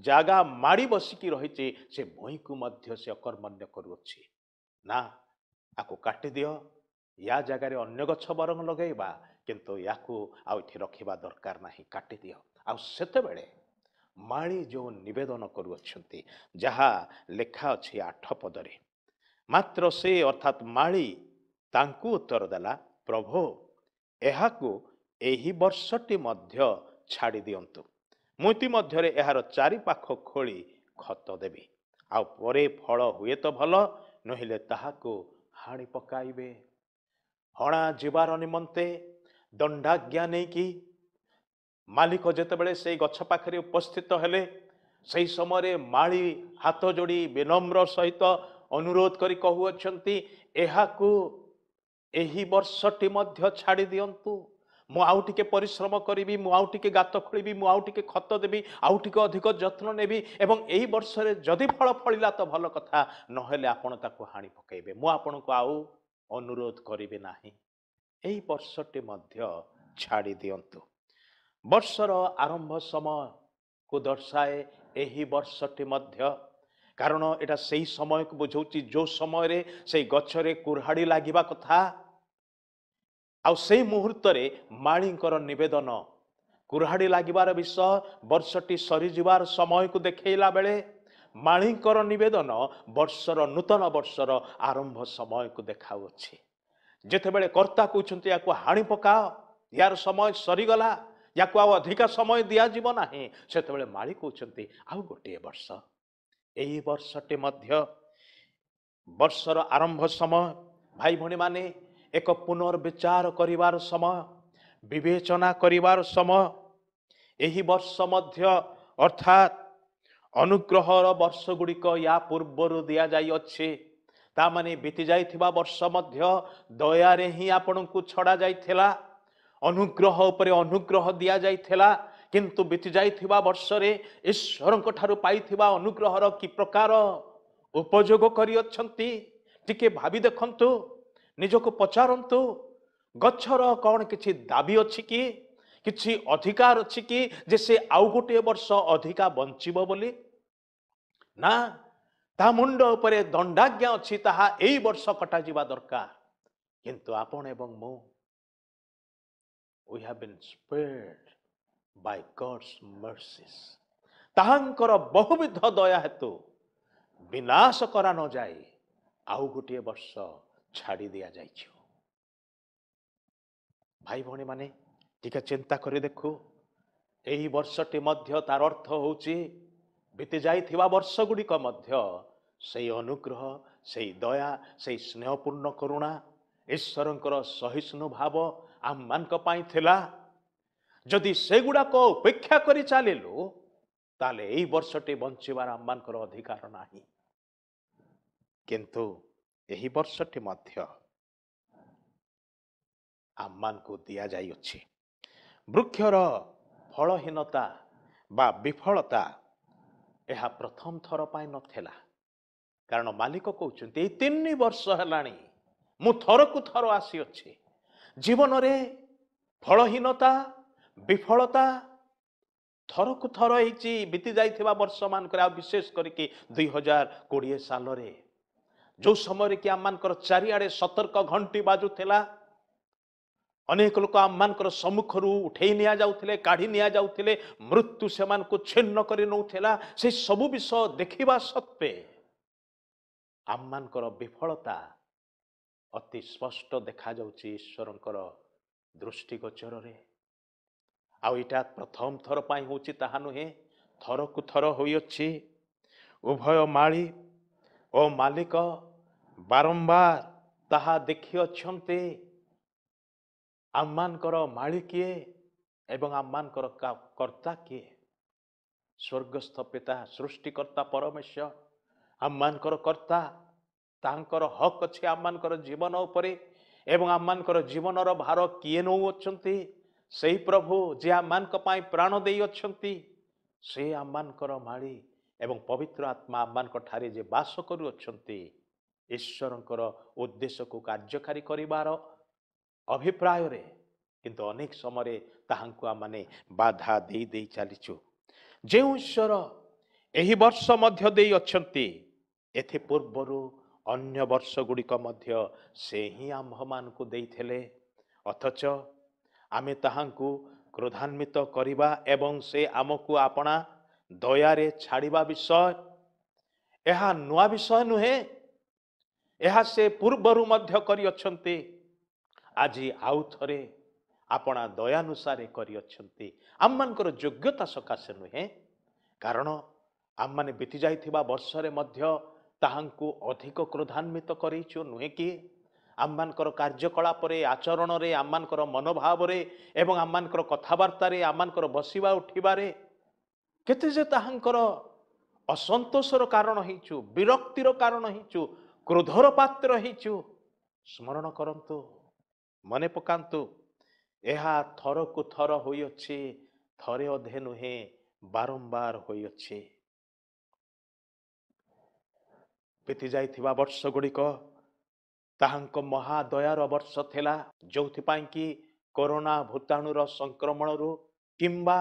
ଜାଗା ମାଡ଼ି ବସିକି ରହିଛି, ସେ ଭୂଇଁକୁ ମଧ୍ୟ ସେ ଅକର୍ମଣ୍ୟ କରୁଅଛି। ନା, ଆକୁ କାଟିଦିଅ, ୟା ଜାଗାରେ ଅନ୍ୟ ଗଛ ବରଂ ଲଗାଇବା, କିନ୍ତୁ ୟାକୁ ଆଉ ଏଠି ରଖିବା ଦରକାର ନାହିଁ, କାଟିଦିଅ। ଆଉ ସେତେବେଳେ ମାଳି ଯେଉଁ ନିବେଦନ କରୁଅଛନ୍ତି, ଯାହା ଲେଖା ଅଛି 8 ପଦରେ, ମାତ୍ର ସେ ଅର୍ଥାତ୍ ମାଳି ତାଙ୍କୁ ଉତ୍ତର ଦେଲା, ପ୍ରଭୁ ଏହାକୁ ଏହି ବର୍ଷଟି ମଧ୍ୟ ଛାଡ଼ି ଦିଅନ୍ତୁ, ମୁଁ ଇତିମଧ୍ୟରେ ଏହାର ଚାରିପାଖ ଖୋଳି ଖତ ଦେବି, ଆଉ ପରେ ଫଳ ହୁଏ ତ ଭଲ, ନହେଲେ ତାହାକୁ ହାଣି ପକାଇବେ। ହଣା ଯିବାର ନିମନ୍ତେ ଦଣ୍ଡାଜ୍ଞା ନେଇକି ମାଲିକ ଯେତେବେଳେ ସେଇ ଗଛ ପାଖରେ ଉପସ୍ଥିତ ହେଲେ, ସେହି ସମୟରେ ମାଳି ହାତ ଯୋଡ଼ି ବିନମ୍ର ସହିତ ଅନୁରୋଧ କରି କହୁଅଛନ୍ତି, ଏହାକୁ ଏହି ବର୍ଷଟି ମଧ୍ୟ ଛାଡ଼ି ଦିଅନ୍ତୁ, ମୁଁ ଆଉ ଟିକେ ପରିଶ୍ରମ କରିବି, ମୁଁ ଆଉ ଟିକେ ଗାତ ଖୋଳିବି, ମୁଁ ଆଉ ଟିକେ ଖତ ଦେବି, ଆଉ ଟିକେ ଅଧିକ ଯତ୍ନ ନେବି ଏବଂ ଏହି ବର୍ଷରେ ଯଦି ଫଳ ଫଳିଲା ତ ଭଲ କଥା, ନହେଲେ ଆପଣ ତାକୁ ହାଣି ପକାଇବେ, ମୁଁ ଆପଣଙ୍କୁ ଆଉ ଅନୁରୋଧ କରିବି ନାହିଁ, ଏହି ବର୍ଷଟି ମଧ୍ୟ ଛାଡ଼ି ଦିଅନ୍ତୁ। ବର୍ଷର ଆରମ୍ଭ ସମୟକୁ ଦର୍ଶାଏ ଏହି ବର୍ଷଟି ମଧ୍ୟ, କାରଣ ଏଇଟା ସେଇ ସମୟକୁ ବୁଝାଉଛି ଯେଉଁ ସମୟରେ ସେଇ ଗଛରେ କୁରାଢ଼ି ଲାଗିବା କଥା। ଆଉ ସେଇ ମୁହୂର୍ତ୍ତରେ ମାଳିଙ୍କର ନିବେଦନ, କୁରାଢ଼ି ଲାଗିବାର ବିଷୟ ବର୍ଷଟି ସରିଯିବାର ସମୟକୁ ଦେଖେଇଲା ବେଳେ ମାଳିଙ୍କର ନିବେଦନ ବର୍ଷର ନୂତନ ବର୍ଷର ଆରମ୍ଭ ସମୟକୁ ଦେଖାଉଅଛି। ଯେତେବେଳେ କର୍ତ୍ତା କହୁଛନ୍ତି ୟାକୁ ହାଣି ପକାଅ, ୟାର ସମୟ ସରିଗଲା, ୟାକୁ ଆଉ ଅଧିକା ସମୟ ଦିଆଯିବ ନାହିଁ, ସେତେବେଳେ ମାଳି କହୁଛନ୍ତି ଆଉ ଗୋଟିଏ ବର୍ଷ, ଏହି ବର୍ଷଟି ମଧ୍ୟ ବର୍ଷର ଆରମ୍ଭ ସମୟ। ଭାଇ ଭଉଣୀମାନେ, ଏକ ପୁନର୍ବିଚାର କରିବାର ସମୟ, ବିବେଚନା କରିବାର ସମୟ। ଏହି ବର୍ଷ ମଧ୍ୟ ଅର୍ଥାତ୍ ଅନୁଗ୍ରହର ବର୍ଷ ଗୁଡ଼ିକ ୟା ପୂର୍ବରୁ ଦିଆଯାଇଅଛି, ତା ମାନେ ବିତି ଯାଇଥିବା ବର୍ଷ ମଧ୍ୟ ଦୟାରେ ହିଁ ଆପଣଙ୍କୁ ଛଡ଼ା ଯାଇଥିଲା, ଅନୁଗ୍ରହ ଉପରେ ଅନୁଗ୍ରହ ଦିଆଯାଇଥିଲା। କିନ୍ତୁ ବିତି ଯାଇଥିବା ବର୍ଷରେ ଈଶ୍ୱରଙ୍କ ଠାରୁ ପାଇଥିବା ଅନୁଗ୍ରହର କି ପ୍ରକାର ଉପଯୋଗ କରିଅଛନ୍ତି ଟିକେ ଭାବି ଦେଖନ୍ତୁ, ନିଜକୁ ପଚାରନ୍ତୁ। ଗଛର କ'ଣ କିଛି ଦାବି ଅଛି କି, କିଛି ଅଧିକାର ଅଛି କି ଯେ ସେ ଆଉ ଗୋଟିଏ ବର୍ଷ ଅଧିକା ବଞ୍ଚିବ ବୋଲି? ନା, ତା ମୁଣ୍ଡ ଉପରେ ଦଣ୍ଡାଜ୍ଞା ଅଛି, ତାହା ଏଇ ବର୍ଷ କଟାଯିବା ଦରକାର। କିନ୍ତୁ ଆପଣ ଏବଂ ମୁଁ, we have been spared by God's mercies. ତାହାଙ୍କର ବହୁବିଧ ଦୟା ହେତୁ ବିନାଶ କରା ନଯାଇ ଆଉ ଗୋଟିଏ ବର୍ଷ ଛାଡ଼ି ଦିଆଯାଇଛି। ଭାଇ ଭଉଣୀମାନେ, ଟିକେ ଚିନ୍ତା କରି ଦେଖୁ, ଏହି ବର୍ଷଟି ମଧ୍ୟ ତାର ଅର୍ଥ ହେଉଛି ବିତି ଯାଇଥିବା ବର୍ଷ ଗୁଡ଼ିକ ମଧ୍ୟ ସେଇ ଅନୁଗ୍ରହ, ସେଇ ଦୟା, ସେଇ ସ୍ନେହପୂର୍ଣ୍ଣ କରୁଣା, ଈଶ୍ୱରଙ୍କର ସହିଷ୍ଣୁ ଭାବ ଆମମାନଙ୍କ ପାଇଁ ଥିଲା। ଯଦି ସେଗୁଡ଼ାକ ଉପେକ୍ଷା କରି ଚାଲିଲୁ, ତାହେଲେ ଏଇ ବର୍ଷଟି ବଞ୍ଚିବାର ଆମମାନଙ୍କର ଅଧିକାର ନାହିଁ। କିନ୍ତୁ ଏହି ବର୍ଷଟି ମଧ୍ୟ ଆମମାନଙ୍କୁ ଦିଆଯାଇଅଛି। ବୃକ୍ଷର ଫଳହୀନତା ବା ବିଫଳତା ଏହା ପ୍ରଥମ ଥର ପାଇଁ ନଥିଲା, କାରଣ ମାଲିକ କହୁଛନ୍ତି ଏଇ 3 ବର୍ଷ ହେଲାଣି ମୁଁ ଥରକୁ ଥର ଆସିଅଛି। ଜୀବନରେ ଫଳହୀନତା, ବିଫଳତା ଥରକୁ ଥର ହେଇଛି ବିତି ଯାଇଥିବା ବର୍ଷମାନଙ୍କରେ, ଆଉ ବିଶେଷ କରିକି 2020 ସାଲରେ, ଯେଉଁ ସମୟରେ କି ଆମମାନଙ୍କର ଚାରିଆଡ଼େ ସତର୍କ ଘଣ୍ଟି ବାଜୁଥିଲା, ଅନେକ ଲୋକ ଆମମାନଙ୍କର ସମ୍ମୁଖରୁ ଉଠେଇ ନିଆଯାଉଥିଲେ, କାଢ଼ି ନିଆଯାଉଥିଲେ, ମୃତ୍ୟୁ ସେମାନଙ୍କୁ ଛିନ୍ନ କରି ନେଉଥିଲା। ସେ ସବୁ ବିଷୟ ଦେଖିବା ସତ୍ତ୍ୱେ ଆମମାନଙ୍କର ବିଫଳତା ଅତି ସ୍ପଷ୍ଟ ଦେଖାଯାଉଛି ଈଶ୍ୱରଙ୍କର ଦୃଷ୍ଟିଗୋଚରରେ। ଆଉ ଏଇଟା ପ୍ରଥମ ଥର ପାଇଁ ହେଉଛି ତାହା ନୁହେଁ, ଥରକୁ ଥର ହୋଇଅଛି। ଉଭୟ ମାଳି ଓ ମାଲିକ ବାରମ୍ବାର ତାହା ଦେଖିଅଛନ୍ତି। ଆମମାନଙ୍କର ମାଳି କିଏ, ଏବଂ ଆମମାନଙ୍କର କର୍ତ୍ତା କିଏ? ସ୍ୱର୍ଗସ୍ଥ ପିତା, ସୃଷ୍ଟିକର୍ତ୍ତା ପରମେଶ୍ୱର ଆମମାନଙ୍କର କର୍ତ୍ତା। ତାଙ୍କର ହକ୍ ଅଛି ଆମମାନଙ୍କର ଜୀବନ ଉପରେ ଏବଂ ଆମମାନଙ୍କର ଜୀବନର ଭାର କିଏ ନେଉଅଛନ୍ତି? ସେଇ ପ୍ରଭୁ ଯିଏ ଆମମାନଙ୍କ ପାଇଁ ପ୍ରାଣ ଦେଇଅଛନ୍ତି, ସେ ଆମମାନଙ୍କର ମାଳି ଏବଂ ପବିତ୍ର ଆତ୍ମା ଆମମାନଙ୍କ ଠାରେ ଯେ ବାସ କରୁଅଛନ୍ତି, ଈଶ୍ୱରଙ୍କର ଉଦ୍ଦେଶ୍ୟକୁ କାର୍ଯ୍ୟକାରୀ କରିବାର ଅଭିପ୍ରାୟରେ। କିନ୍ତୁ ଅନେକ ସମୟରେ ତାହାଙ୍କୁ ଆମମାନେ ବାଧା ଦେଇ ଦେଇ ଚାଲିଛୁ। ଯେଉଁ ଈଶ୍ୱର ଏହି ବର୍ଷ ମଧ୍ୟ ଦେଇଅଛନ୍ତି, ଏଥି ପୂର୍ବରୁ ଅନ୍ୟ ବର୍ଷ ଗୁଡ଼ିକ ମଧ୍ୟ ସେ ହିଁ ଆମ୍ଭମାନଙ୍କୁ ଦେଇଥିଲେ, ଅଥଚ ଆମେ ତାହାଙ୍କୁ କ୍ରୋଧାନ୍ବିତ କରିବା ଏବଂ ସେ ଆମକୁ ଆପଣା ଦୟାରେ ଛାଡ଼ିବା ବିଷୟ ଏହା ନୂଆ ବିଷୟ ନୁହେଁ। ଏହା ସେ ପୂର୍ବରୁ ମଧ୍ୟ କରିଅଛନ୍ତି, ଆଜି ଆଉ ଥରେ ଆପଣା ଦୟାନୁସାରେ କରିଅଛନ୍ତି। ଆମମାନଙ୍କର ଯୋଗ୍ୟତା ସକାଶେ ନୁହେଁ, କାରଣ ଆମମାନେ ବିତି ଯାଇଥିବା ବର୍ଷରେ ମଧ୍ୟ ତାହାଙ୍କୁ ଅଧିକ କ୍ରୋଧାନ୍ବିତ କରେଇଛୁ, ନୁହେଁ କି? ଆମମାନଙ୍କର କାର୍ଯ୍ୟକଳାପରେ, ଆଚରଣରେ, ଆମମାନଙ୍କର ମନୋଭାବରେ ଏବଂ ଆମମାନଙ୍କର କଥାବାର୍ତ୍ତାରେ, ଆମମାନଙ୍କର ବସିବା ଉଠିବାରେ କେତେ ଯେ ତାହାଙ୍କର ଅସନ୍ତୋଷର କାରଣ ହେଇଛୁ, ବିରକ୍ତିର କାରଣ ହେଇଛୁ, କ୍ରୋଧର ପାତ୍ର ହେଇଛୁ। ସ୍ମରଣ କରନ୍ତୁ, ମନେ ପକାନ୍ତୁ, ଏହା ଥରକୁ ଥର ହୋଇଅଛି, ଥରେ ଅଧେ ନୁହେଁ, ବାରମ୍ବାର ହୋଇଅଛି। ବିତି ଯାଇଥିବା ବର୍ଷ ଗୁଡ଼ିକ ତାହାଙ୍କ ମହାଦୟାର ବର୍ଷ ଥିଲା, ଯେଉଁଥିପାଇଁ କି କରୋନା ଭୂତାଣୁର ସଂକ୍ରମଣରୁ କିମ୍ବା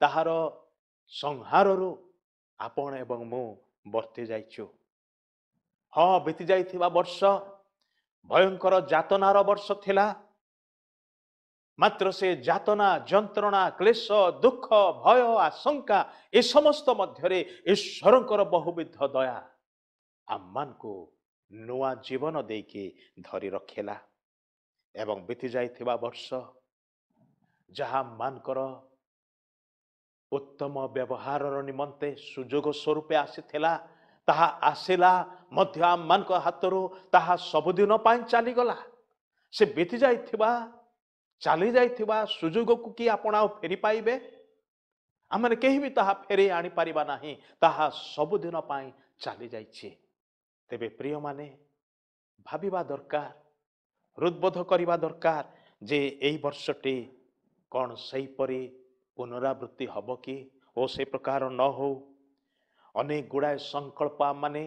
ତାହାର ସଂହାରରୁ ଆପଣ ଏବଂ ମୁଁ ବର୍ତ୍ତି ଯାଇଛୁ। ହଁ, ବିତି ଯାଇଥିବା ବର୍ଷ ଭୟଙ୍କର ଯାତନାର ବର୍ଷ ଥିଲା, ମାତ୍ର ସେ ଯାତନା, ଯନ୍ତ୍ରଣା, କ୍ଲେଶ, ଦୁଃଖ, ଭୟ, ଆଶଙ୍କା ଏ ସମସ୍ତ ମଧ୍ୟରେ ଈଶ୍ୱରଙ୍କର ବହୁବିଧ ଦୟା ଆମମାନଙ୍କୁ ନୂଆ ଜୀବନ ଦେଇକି ଧରି ରଖିଲା। ଏବଂ ବିତି ଯାଇଥିବା ବର୍ଷ ଯାହା ଆମମାନଙ୍କର ଉତ୍ତମ ବ୍ୟବହାରର ନିମନ୍ତେ ସୁଯୋଗ ସ୍ୱରୂପେ ଆସିଥିଲା, ତାହା ଆସିଲା ମଧ୍ୟ ଆମମାନଙ୍କ ହାତରୁ ତାହା ସବୁଦିନ ପାଇଁ ଚାଲିଗଲା। ସେ ବିତି ଯାଇଥିବା, ଚାଲି ଯାଇଥିବା ସୁଯୋଗକୁ କି ଆପଣ ଆଉ ଫେରି ପାଇବେ? ଆମମାନେ କେହି ବି ତାହା ଫେରେଇ ଆଣିପାରିବା ନାହିଁ, ତାହା ସବୁଦିନ ପାଇଁ ଚାଲି ଯାଇଛି। ତେବେ ପ୍ରିୟମାନେ, ଭାବିବା ଦରକାର, ହୃଦବୋଧ କରିବା ଦରକାର ଯେ ଏଇ ବର୍ଷଟି କ'ଣ ସେହିପରି ପୁନରାବୃତ୍ତି ହେବ କି? ଓ ସେ ପ୍ରକାର ନ ହଉ। ଅନେକ ଗୁଡ଼ାଏ ସଂକଳ୍ପ ଆମମାନେ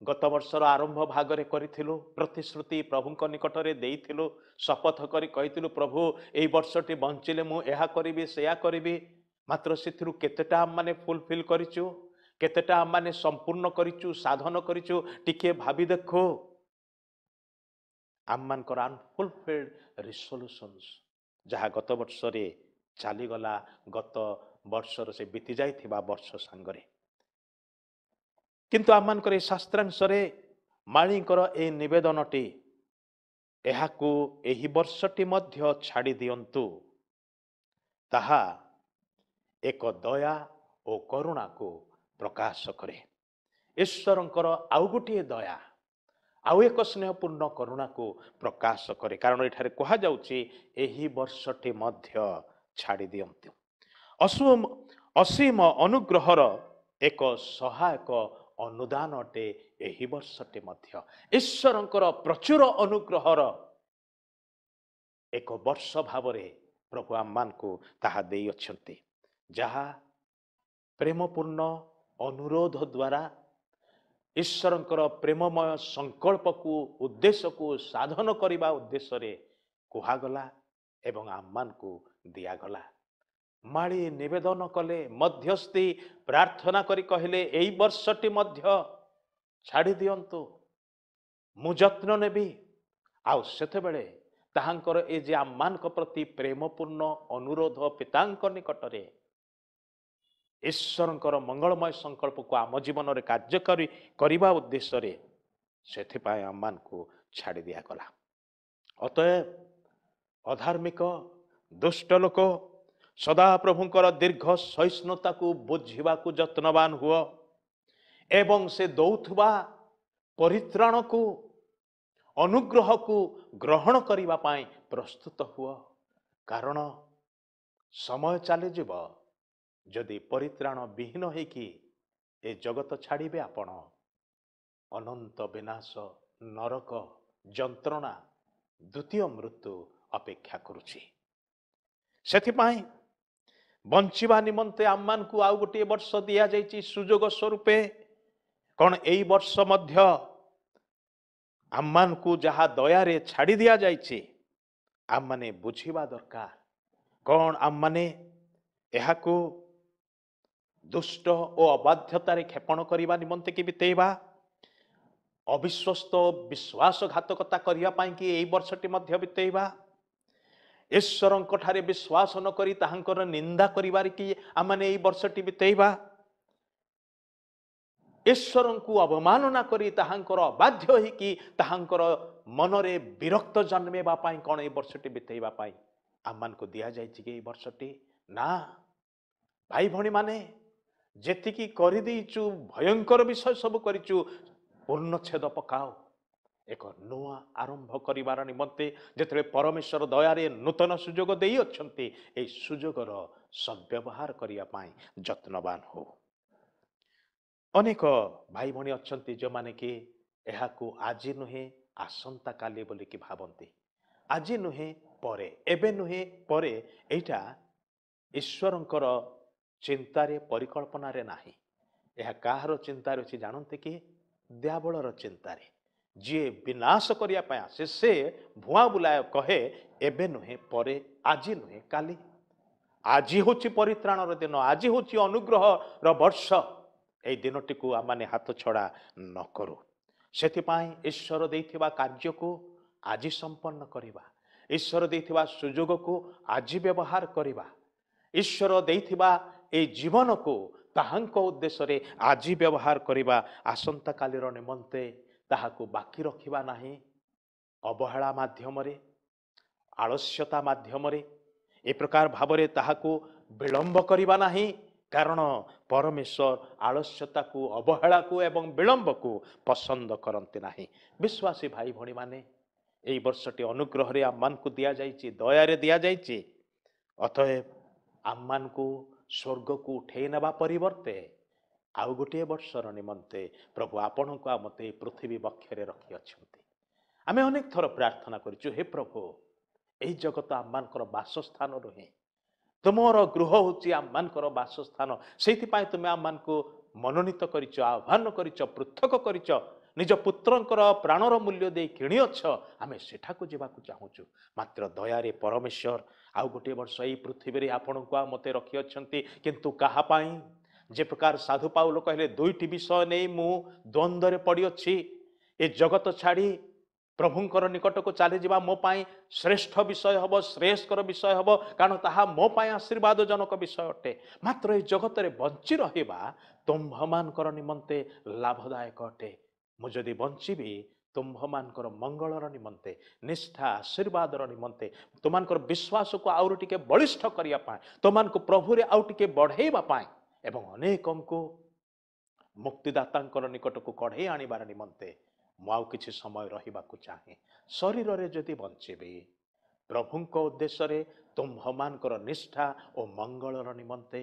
ଗତ ବର୍ଷର ଆରମ୍ଭ ଭାଗରେ କରିଥିଲୁ, ପ୍ରତିଶ୍ରୁତି ପ୍ରଭୁଙ୍କ ନିକଟରେ ଦେଇଥିଲୁ, ଶପଥ କରି କହିଥିଲୁ, ପ୍ରଭୁ ଏଇ ବର୍ଷଟି ବଞ୍ଚିଲେ ମୁଁ ଏହା କରିବି, ସେୟା କରିବି। ମାତ୍ର ସେଥିରୁ କେତେଟା ଆମମାନେ ଫୁଲଫିଲ୍ କରିଛୁ, କେତେଟା ଆମମାନେ ସମ୍ପୂର୍ଣ୍ଣ କରିଛୁ, ସାଧନ କରିଛୁ, ଟିକିଏ ଭାବି ଦେଖୁ। ଆମମାନଙ୍କର ଅନଫୁଲଫିଲ୍ଡ ରିସଲ୍ୟୁସନ୍ସ ଯାହା ଗତ ବର୍ଷରେ ଚାଲିଗଲା, ଗତ ବର୍ଷର ସେ ବିତି ଯାଇଥିବା ବର୍ଷ ସାଙ୍ଗରେ। କିନ୍ତୁ ଆମମାନଙ୍କର ଏ ଶାସ୍ତ୍ରାଂଶରେ ମାଳୀଙ୍କର ଏ ନିବେଦନଟି, ଏହାକୁ ଏହି ବର୍ଷଟି ମଧ୍ୟ ଛାଡ଼ି ଦିଅନ୍ତୁ, ତାହା ଏକ ଦୟା ଓ କରୁଣାକୁ ପ୍ରକାଶ କରେ। ଈଶ୍ୱରଙ୍କର ଆଉ ଗୋଟିଏ ଦୟା, ଆଉ ଏକ ସ୍ନେହପୂର୍ଣ୍ଣ କରୁଣାକୁ ପ୍ରକାଶ କରେ, କାରଣ ଏଠାରେ କୁହାଯାଉଛି ଏହି ବର୍ଷଟି ମଧ୍ୟ ଛାଡ଼ି ଦିଅନ୍ତୁ। ଅସୀମ ଅନୁଗ୍ରହର ଏକ ସହାୟକ ଅନୁଦାନ ଅଟେ ଏହି ବର୍ଷଟି ମଧ୍ୟ। ଈଶ୍ୱରଙ୍କର ପ୍ରଚୁର ଅନୁଗ୍ରହର ଏକ ବର୍ଷ ଭାବରେ ପ୍ରଭୁ ଆମମାନଙ୍କୁ ତାହା ଦେଇଅଛନ୍ତି, ଯାହା ପ୍ରେମପୂର୍ଣ୍ଣ ଅନୁରୋଧ ଦ୍ୱାରା ଈଶ୍ୱରଙ୍କର ପ୍ରେମମୟ ସଂକଳ୍ପକୁ, ଉଦ୍ଦେଶ୍ୟକୁ ସାଧନ କରିବା ଉଦ୍ଦେଶ୍ୟରେ କୁହାଗଲା ଏବଂ ଆମମାନଙ୍କୁ ଦିଆଗଲା। ମାଳି ନିବେଦନ କଲେ, ମଧ୍ୟସ୍ଥି ପ୍ରାର୍ଥନା କରି କହିଲେ, ଏଇ ବର୍ଷଟି ମଧ୍ୟ ଛାଡ଼ି ଦିଅନ୍ତୁ, ମୁଁ ଯତ୍ନ ନେବି। ଆଉ ସେତେବେଳେ ତାହାଙ୍କର ଏ ଯେ ଆମମାନଙ୍କ ପ୍ରତି ପ୍ରେମପୂର୍ଣ୍ଣ ଅନୁରୋଧ ପିତାଙ୍କ ନିକଟରେ ଈଶ୍ୱରଙ୍କର ମଙ୍ଗଳମୟ ସଂକଳ୍ପକୁ ଆମ ଜୀବନରେ କାର୍ଯ୍ୟକାରୀ କରିବା ଉଦ୍ଦେଶ୍ୟରେ, ସେଥିପାଇଁ ଆମମାନଙ୍କୁ ଛାଡ଼ି ଦିଆଗଲା। ଅତଏବ ଅଧାର୍ମିକ ଦୁଷ୍ଟ ଲୋକ ସଦାପ୍ରଭୁଙ୍କର ଦୀର୍ଘ ସହିଷ୍ଣୁତାକୁ ବୁଝିବାକୁ ଯତ୍ନବାନ ହୁଅ ଏବଂ ସେ ଦଉଥିବା ପରିତ୍ରାଣକୁ, ଅନୁଗ୍ରହକୁ ଗ୍ରହଣ କରିବା ପାଇଁ ପ୍ରସ୍ତୁତ ହୁଅ, କାରଣ ସମୟ ଚାଲିଯିବ, ଯଦି ପରିତ୍ରାଣ ବିହୀନ ହେଇକି ଏ ଜଗତ ଛାଡ଼ିବେ ଆପଣ, ଅନନ୍ତ ବିନାଶ, ନରକ ଯନ୍ତ୍ରଣା, ଦ୍ୱିତୀୟ ମୃତ୍ୟୁ ଅପେକ୍ଷା କରୁଛି। ସେଥିପାଇଁ ବଞ୍ଚିବା ନିମନ୍ତେ ଆମମାନଙ୍କୁ ଆଉ ଗୋଟିଏ ବର୍ଷ ଦିଆଯାଇଛି ସୁଯୋଗ ସ୍ୱରୂପେ। କ'ଣ ଏଇ ବର୍ଷ ମଧ୍ୟ ଆମମାନଙ୍କୁ ଯାହା ଦୟାରେ ଛାଡ଼ି ଦିଆଯାଇଛି, ଆମମାନେ ବୁଝିବା ଦରକାର, କ'ଣ ଆମମାନେ ଏହାକୁ ଦୁଷ୍ଟ ଓ ଅବାଧ୍ୟତାରେ କ୍ଷେପଣ କରିବା ନିମନ୍ତେ କି ବିତେଇବା, ଅବିଶ୍ୱସ୍ତ ବିଶ୍ୱାସଘାତକତା କରିବା ପାଇଁ କି ଏଇ ବର୍ଷଟି ମଧ୍ୟ ବିତେଇବା, ଈଶ୍ୱରଙ୍କ ଠାରେ ବିଶ୍ୱାସ ନ କରି ତାହାଙ୍କର ନିନ୍ଦା କରିବାରେ କି ଆମମାନେ ଏଇ ବର୍ଷଟି ବିତେଇବା, ଈଶ୍ୱରଙ୍କୁ ଅବମାନନା କରି ତାହାଙ୍କର ଅବାଧ୍ୟ ହେଇକି ତାହାଙ୍କର ମନରେ ବିରକ୍ତ ଜନ୍ମେଇବା ପାଇଁ କ'ଣ ଏଇ ବର୍ଷଟି ବିତେଇବା ପାଇଁ ଆମମାନଙ୍କୁ ଦିଆଯାଇଛି କି ଏଇ ବର୍ଷଟି? ନା ଭାଇ ଭଉଣୀମାନେ, ଯେତିକି କରିଦେଇଛୁ ଭୟଙ୍କର ବିଷୟ ସବୁ କରିଛୁ, ପୂର୍ଣ୍ଣଚ୍ଛେଦ ପକାଅ। ଏକ ନୂଆ ଆରମ୍ଭ କରିବାର ନିମନ୍ତେ ଯେତେବେଳେ ପରମେଶ୍ୱର ଦୟାରେ ନୂତନ ସୁଯୋଗ ଦେଇଅଛନ୍ତି, ଏହି ସୁଯୋଗର ସଦ୍ବ୍ୟବହାର କରିବା ପାଇଁ ଯତ୍ନବାନ ହଉ। ଅନେକ ଭାଇ ଭଉଣୀ ଅଛନ୍ତି ଯେଉଁମାନେ କି ଏହାକୁ ଆଜି ନୁହେଁ ଆସନ୍ତାକାଲି ବୋଲିକି ଭାବନ୍ତି, ଆଜି ନୁହେଁ ପରେ, ଏବେ ନୁହେଁ ପରେ। ଏଇଟା ଈଶ୍ୱରଙ୍କର ଚିନ୍ତାରେ ପରିକଳ୍ପନାରେ ନାହିଁ। ଏହା କାହାର ଚିନ୍ତାରେ ଅଛି ଜାଣନ୍ତି କି? ଦିଆବଳର ଚିନ୍ତାରେ। ଯିଏ ବିନାଶ କରିବା ପାଇଁ ଆସେ ସେ ଭୁଆଁ ବୁଲାଏ, କହେ ଏବେ ନୁହେଁ ପରେ, ଆଜି ନୁହେଁ କାଲି। ଆଜି ହେଉଛି ପରିତ୍ରାଣର ଦିନ, ଆଜି ହେଉଛି ଅନୁଗ୍ରହର ବର୍ଷ। ଏଇ ଦିନଟିକୁ ଆମମାନେ ହାତ ଛଡ଼ା ନ କରୁ। ସେଥିପାଇଁ ଈଶ୍ୱର ଦେଇଥିବା କାର୍ଯ୍ୟକୁ ଆଜି ସମ୍ପନ୍ନ କରିବା, ଈଶ୍ୱର ଦେଇଥିବା ସୁଯୋଗକୁ ଆଜି ବ୍ୟବହାର କରିବା, ଈଶ୍ୱର ଦେଇଥିବା ଏଇ ଜୀବନକୁ ତାହାଙ୍କ ଉଦ୍ଦେଶ୍ୟରେ ଆଜି ବ୍ୟବହାର କରିବା। ଆସନ୍ତାକାଲିର ନିମନ୍ତେ ତାହାକୁ ବାକି ରଖିବା ନାହିଁ। ଅବହେଳା ମାଧ୍ୟମରେ, ଆଳସ୍ୟତା ମାଧ୍ୟମରେ ଏ ପ୍ରକାର ଭାବରେ ତାହାକୁ ବିଳମ୍ବ କରିବା ନାହିଁ, କାରଣ ପରମେଶ୍ୱର ଆଳସ୍ୟତାକୁ, ଅବହେଳାକୁ ଏବଂ ବିଳମ୍ବକୁ ପସନ୍ଦ କରନ୍ତି ନାହିଁ। ବିଶ୍ୱାସୀ ଭାଇ ଭଉଣୀମାନେ, ଏଇ ବର୍ଷଟି ଅନୁଗ୍ରହରେ ଆମମାନଙ୍କୁ ଦିଆଯାଇଛି, ଦୟାରେ ଦିଆଯାଇଛି। ଅତଏବ ଆମମାନଙ୍କୁ ସ୍ୱର୍ଗକୁ ଉଠେଇ ନେବା ପରିବର୍ତ୍ତେ ଆଉ ଗୋଟିଏ ବର୍ଷର ନିମନ୍ତେ ପ୍ରଭୁ ଆପଣଙ୍କୁ ଆଉ ମୋତେ ପୃଥିବୀ ବକ୍ଷରେ ରଖିଅଛନ୍ତି। ଆମେ ଅନେକ ଥର ପ୍ରାର୍ଥନା କରିଛୁ, ହେ ପ୍ରଭୁ, ଏଇ ଜଗତ ଆମମାନଙ୍କର ବାସସ୍ଥାନ ନୁହେଁ, ତୁମର ଗୃହ ହେଉଛି ଆମମାନଙ୍କର ବାସସ୍ଥାନ। ସେଇଥିପାଇଁ ତୁମେ ଆମମାନଙ୍କୁ ମନୋନୀତ କରିଛ, ଆହ୍ୱାନ କରିଛ, ପୃଥକ କରିଛ, ନିଜ ପୁତ୍ରଙ୍କର ପ୍ରାଣର ମୂଲ୍ୟ ଦେଇ କିଣିଅଛ। ଆମେ ସେଠାକୁ ଯିବାକୁ ଚାହୁଁଛୁ। ମାତ୍ର ଦୟାରେ ପରମେଶ୍ୱର ଆଉ ଗୋଟିଏ ବର୍ଷ ଏଇ ପୃଥିବୀରେ ଆପଣଙ୍କୁ ଆଉ ମୋତେ ରଖିଅଛନ୍ତି। କିନ୍ତୁ କାହା ପାଇଁ? ଯେ ପ୍ରକାର ସାଧୁ ପାଉଲ କହିଲେ, ଦୁଇଟି ବିଷୟ ନେଇ ମୁଁ ଦ୍ୱନ୍ଦ୍ୱରେ ପଡ଼ିଅଛି। ଏ ଜଗତ ଛାଡ଼ି ପ୍ରଭୁଙ୍କର ନିକଟକୁ ଚାଲିଯିବା ମୋ ପାଇଁ ଶ୍ରେଷ୍ଠ ବିଷୟ ହେବ, ଶ୍ରେୟସ୍କର ବିଷୟ ହେବ, କାରଣ ତାହା ମୋ ପାଇଁ ଆଶୀର୍ବାଦଜନକ ବିଷୟ ଅଟେ। ମାତ୍ର ଏ ଜଗତରେ ବଞ୍ଚି ରହିବା ତୁମ୍ଭମାନଙ୍କର ନିମନ୍ତେ ଲାଭଦାୟକ ଅଟେ। ମୁଁ ଯଦି ବଞ୍ଚିବି ତୁମ୍ଭମାନଙ୍କର ମଙ୍ଗଳର ନିମନ୍ତେ, ନିଷ୍ଠା ଆଶୀର୍ବାଦର ନିମନ୍ତେ, ତୁମମାନଙ୍କର ବିଶ୍ୱାସକୁ ଆହୁରି ଟିକେ ବଳିଷ୍ଠ କରିବା ପାଇଁ, ତୁମମାନଙ୍କୁ ପ୍ରଭୁରେ ଆଉ ଟିକେ ବଢ଼େଇବା ପାଇଁ ଏବଂ ଅନେକଙ୍କୁ ମୁକ୍ତିଦାତାଙ୍କର ନିକଟକୁ କଢ଼େଇ ଆଣିବାର ନିମନ୍ତେ ମୁଁ ଆଉ କିଛି ସମୟ ରହିବାକୁ ଚାହେଁ। ଶରୀରରେ ଯଦି ବଞ୍ଚିବି ପ୍ରଭୁଙ୍କ ଉଦ୍ଦେଶ୍ୟରେ ତୁମ୍ଭମାନଙ୍କର ନିଷ୍ଠା ଓ ମଙ୍ଗଳର ନିମନ୍ତେ,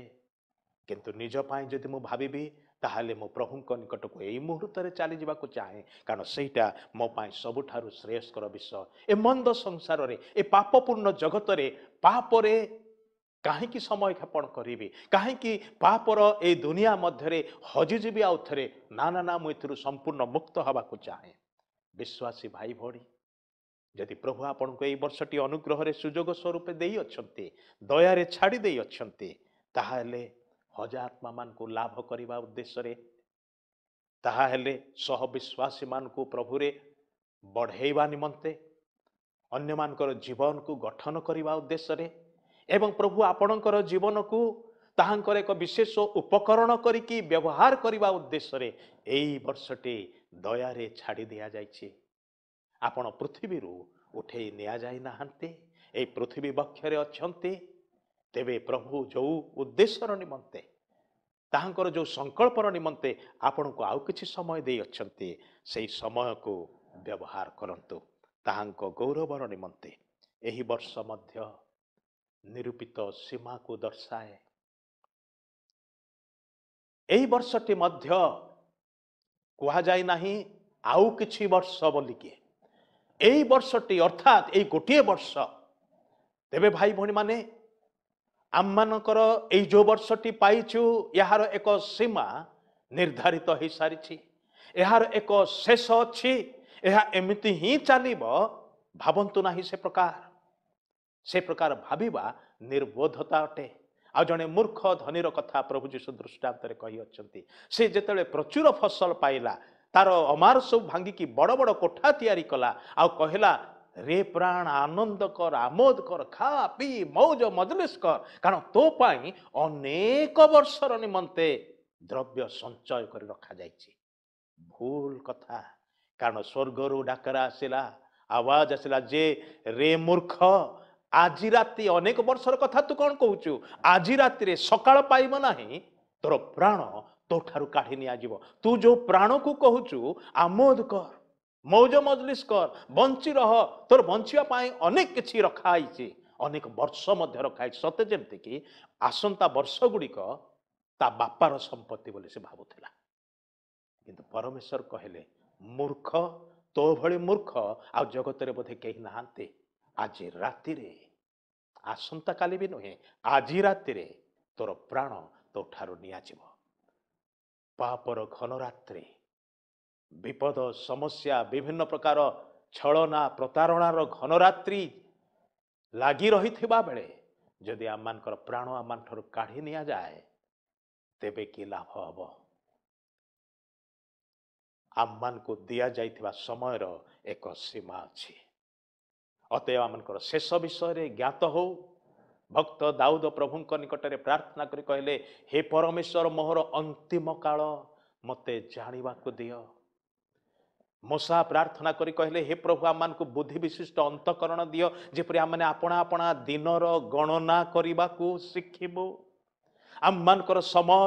କିନ୍ତୁ ନିଜ ପାଇଁ ଯଦି ମୁଁ ଭାବିବି ତାହେଲେ ମୁଁ ପ୍ରଭୁଙ୍କ ନିକଟକୁ ଏଇ ମୁହୂର୍ତ୍ତରେ ଚାଲିଯିବାକୁ ଚାହେଁ, କାରଣ ସେଇଟା ମୋ ପାଇଁ ସବୁଠାରୁ ଶ୍ରେୟସ୍କର ବିଷୟ। ଏ ମନ୍ଦ ସଂସାରରେ, ଏ ପାପପୂର୍ଣ୍ଣ ଜଗତରେ ପାପରେ କାହିଁକି ସମୟ କ୍ଷେପଣ କରିବି? କାହିଁକି ପାପର ଏଇ ଦୁନିଆ ମଧ୍ୟରେ ହଜିଯିବି ଆଉ ଥରେ? ନା ନା ନା, ମୁଁ ଏଥିରୁ ସମ୍ପୂର୍ଣ୍ଣ ମୁକ୍ତ ହେବାକୁ ଚାହେଁ। ବିଶ୍ୱାସୀ ଭାଇ ଭଉଣୀ, ଯଦି ପ୍ରଭୁ ଆପଣଙ୍କୁ ଏଇ ବର୍ଷଟି ଅନୁଗ୍ରହରେ ସୁଯୋଗ ସ୍ୱରୂପେ ଦେଇଅଛନ୍ତି, ଦୟାରେ ଛାଡ଼ି ଦେଇଅଛନ୍ତି, ତାହେଲେ ହଜା ଆତ୍ମାମାନଙ୍କୁ ଲାଭ କରିବା ଉଦ୍ଦେଶ୍ୟରେ, ତାହାହେଲେ ସହ ବିଶ୍ୱାସୀମାନଙ୍କୁ ପ୍ରଭୁରେ ବଢ଼େଇବା ନିମନ୍ତେ, ଅନ୍ୟମାନଙ୍କର ଜୀବନକୁ ଗଠନ କରିବା ଉଦ୍ଦେଶ୍ୟରେ ଏବଂ ପ୍ରଭୁ ଆପଣଙ୍କର ଜୀବନକୁ ତାହାଙ୍କର ଏକ ବିଶେଷ ଉପକରଣ କରିକି ବ୍ୟବହାର କରିବା ଉଦ୍ଦେଶ୍ୟରେ ଏଇ ବର୍ଷଟି ଦୟାରେ ଛାଡ଼ି ଦିଆଯାଇଛି। ଆପଣ ପୃଥିବୀରୁ ଉଠେଇ ନିଆଯାଇ ନାହାନ୍ତି, ଏଇ ପୃଥିବୀ ବକ୍ଷରେ ଅଛନ୍ତି। ତେବେ ପ୍ରଭୁ ଯେଉଁ ଉଦ୍ଦେଶ୍ୟର ନିମନ୍ତେ, ତାହାଙ୍କର ଯେଉଁ ସଂକଳ୍ପର ନିମନ୍ତେ ଆପଣଙ୍କୁ ଆଉ କିଛି ସମୟ ଦେଇଅଛନ୍ତି, ସେଇ ସମୟକୁ ବ୍ୟବହାର କରନ୍ତୁ ତାହାଙ୍କ ଗୌରବର ନିମନ୍ତେ। ଏହି ବର୍ଷ ମଧ୍ୟ ନିରୂପିତ ସୀମାକୁ ଦର୍ଶାଏ। ଏହି ବର୍ଷଟି ମଧ୍ୟ କୁହାଯାଇ ନାହିଁ ଆଉ କିଛି ବର୍ଷ ବୋଲିକି, ଏଇ ବର୍ଷଟି ଅର୍ଥାତ୍ ଏଇ ଗୋଟିଏ ବର୍ଷ। ତେବେ ଭାଇ ଭଉଣୀମାନେ, ଆମମାନଙ୍କର ଏଇ ଯେଉଁ ବର୍ଷଟି ପାଇଛୁ ଏହାର ଏକ ସୀମା ନିର୍ଦ୍ଧାରିତ ହୋଇସାରିଛି, ଏହାର ଏକ ଶେଷ ଅଛି, ଏହା ଏମିତି ହିଁ ଚାଲିବ। ଭାବନ୍ତୁ ନାହିଁ ସେ ପ୍ରକାର, ସେ ପ୍ରକାର ଭାବିବା ନିର୍ବୋଧତା ଅଟେ। ଆଉ ଜଣେ ମୂର୍ଖ ଧନୀର କଥା ପ୍ରଭୁ ଯୀଶୁ ଦୃଷ୍ଟାନ୍ତରେ କହିଅଛନ୍ତି। ସେ ଯେତେବେଳେ ପ୍ରଚୁର ଫସଲ ପାଇଲା, ତାର ଅମାର ସବୁ ଭାଙ୍ଗିକି ବଡ଼ ବଡ଼ କୋଠା ତିଆରି କଲା, ଆଉ କହିଲା, ରେ ପ୍ରାଣ, ଆନନ୍ଦ କର, ଆମୋଦ କର, ଖା ପିଇ ମୌଜ ମଜଲିସ କର, କାରଣ ତୋ ପାଇଁ ଅନେକ ବର୍ଷର ନିମନ୍ତେ ଦ୍ରବ୍ୟ ସଞ୍ଚୟ କରି ରଖାଯାଇଛି। ଭୁଲ କଥା, କାରଣ ସ୍ୱର୍ଗରୁ ଡାକରା ଆସିଲା, ଆୱାଜ ଆସିଲା ଯେ ରେ ମୂର୍ଖ, ଆଜି ରାତି, ଅନେକ ବର୍ଷର କଥା ତୁ କ'ଣ କହୁଛୁ, ଆଜି ରାତିରେ ସକାଳ ପାଇବ ନାହିଁ, ତୋର ପ୍ରାଣ ତୋ ଠାରୁ କାଢ଼ି ନିଆଯିବ। ତୁ ଯୋଉ ପ୍ରାଣକୁ କହୁଛୁ ଆମୋଦ କର, ମୌଜ ମଜଲିସ କର, ବଞ୍ଚି ରହ, ତୋର ବଞ୍ଚିବା ପାଇଁ ଅନେକ କିଛି ରଖା ହେଇଛି, ଅନେକ ବର୍ଷ ମଧ୍ୟ ରଖା ହେଇଛି, ସତେ ଯେମିତିକି ଆସନ୍ତା ବର୍ଷ ଗୁଡ଼ିକ ତା ବାପାର ସମ୍ପତ୍ତି ବୋଲି ସେ ଭାବୁଥିଲା। କିନ୍ତୁ ପରମେଶ୍ୱର କହିଲେ, ମୂର୍ଖ, ତୋ ଭଳି ମୂର୍ଖ ଆଉ ଜଗତରେ ବୋଧେ କେହି ନାହାନ୍ତି। ଆଜି ରାତିରେ, ଆସନ୍ତାକାଲି ବି ନୁହେଁ, ଆଜି ରାତିରେ ତୋର ପ୍ରାଣ ତୋ ଠାରୁ ନିଆଯିବ। ପାପର ଘନ ରାତ୍ରି, ବିପଦ, ସମସ୍ୟା, ବିଭିନ୍ନ ପ୍ରକାର ଛଳନା, ପ୍ରତାରଣାର ଘନରାତ୍ରି ଲାଗି ରହିଥିବା ବେଳେ ଯଦି ଆମମାନଙ୍କର ପ୍ରାଣ ଆମମାନଠାରୁ କାଢ଼ି ନିଆଯାଏ, ତେବେ କି ଲାଭ ହେବ? ଆମମାନଙ୍କୁ ଦିଆଯାଇଥିବା ସମୟର ଏକ ସୀମା ଅଛି। ଅତଏବ ଆମମାନଙ୍କର ଶେଷ ବିଷୟରେ ଜ୍ଞାତ ହଉ। ଭକ୍ତ ଦାଉଦ ପ୍ରଭୁଙ୍କ ନିକଟରେ ପ୍ରାର୍ଥନା କରି କହିଲେ, ହେ ପରମେଶ୍ୱର, ମୋହର ଅନ୍ତିମ କାଳ ମୋତେ ଜାଣିବାକୁ ଦିଅ। ମୋଶା ପ୍ରାର୍ଥନା କରି କହିଲେ, ହେ ପ୍ରଭୁ, ଆମମାନଙ୍କୁ ବୁଦ୍ଧି ବିଶିଷ୍ଟ ଅନ୍ତଃକରଣ ଦିଅ, ଯେପରି ଆମମାନେ ଆପଣା ଆପଣା ଦିନର ଗଣନା କରିବାକୁ ଶିଖିବୁ। ଆମମାନଙ୍କର ସମୟ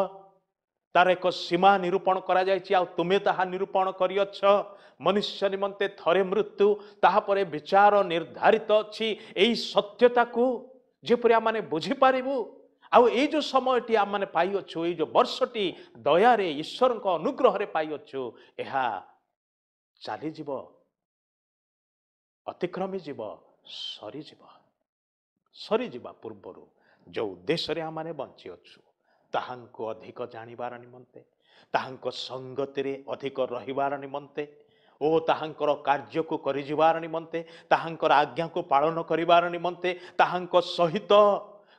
ତାର ଏକ ସୀମା ନିରୂପଣ କରାଯାଇଛି, ଆଉ ତୁମେ ତାହା ନିରୂପଣ କରିଅଛ। ମନୁଷ୍ୟ ନିମନ୍ତେ ଥରେ ମୃତ୍ୟୁ, ତାହାପରେ ବିଚାର ନିର୍ଦ୍ଧାରିତ ଅଛି। ଏଇ ସତ୍ୟତାକୁ ଯେପରି ଆମମାନେ ବୁଝିପାରିବୁ, ଆଉ ଏଇ ଯେଉଁ ସମୟଟି ଆମମାନେ ପାଇଅଛୁ, ଏଇ ଯେଉଁ ବର୍ଷଟି ଦୟାରେ ଈଶ୍ୱରଙ୍କ ଅନୁଗ୍ରହରେ ପାଇଅଛୁ, ଏହା ଚାଲିଯିବ, ଅତିକ୍ରମି ଯିବ, ସରିଯିବ। ସରିଯିବା ପୂର୍ବରୁ ଯେଉଁ ଉଦ୍ଦେଶ୍ୟରେ ଆମମାନେ ବଞ୍ଚିଅଛୁ, ତାହାଙ୍କୁ ଅଧିକ ଜାଣିବାର ନିମନ୍ତେ, ତାହାଙ୍କ ସଙ୍ଗତିରେ ଅଧିକ ରହିବାର ନିମନ୍ତେ ଓ ତାହାଙ୍କର କାର୍ଯ୍ୟକୁ କରିଯିବାର ନିମନ୍ତେ, ତାହାଙ୍କର ଆଜ୍ଞାକୁ ପାଳନ କରିବାର ନିମନ୍ତେ, ତାହାଙ୍କ ସହିତ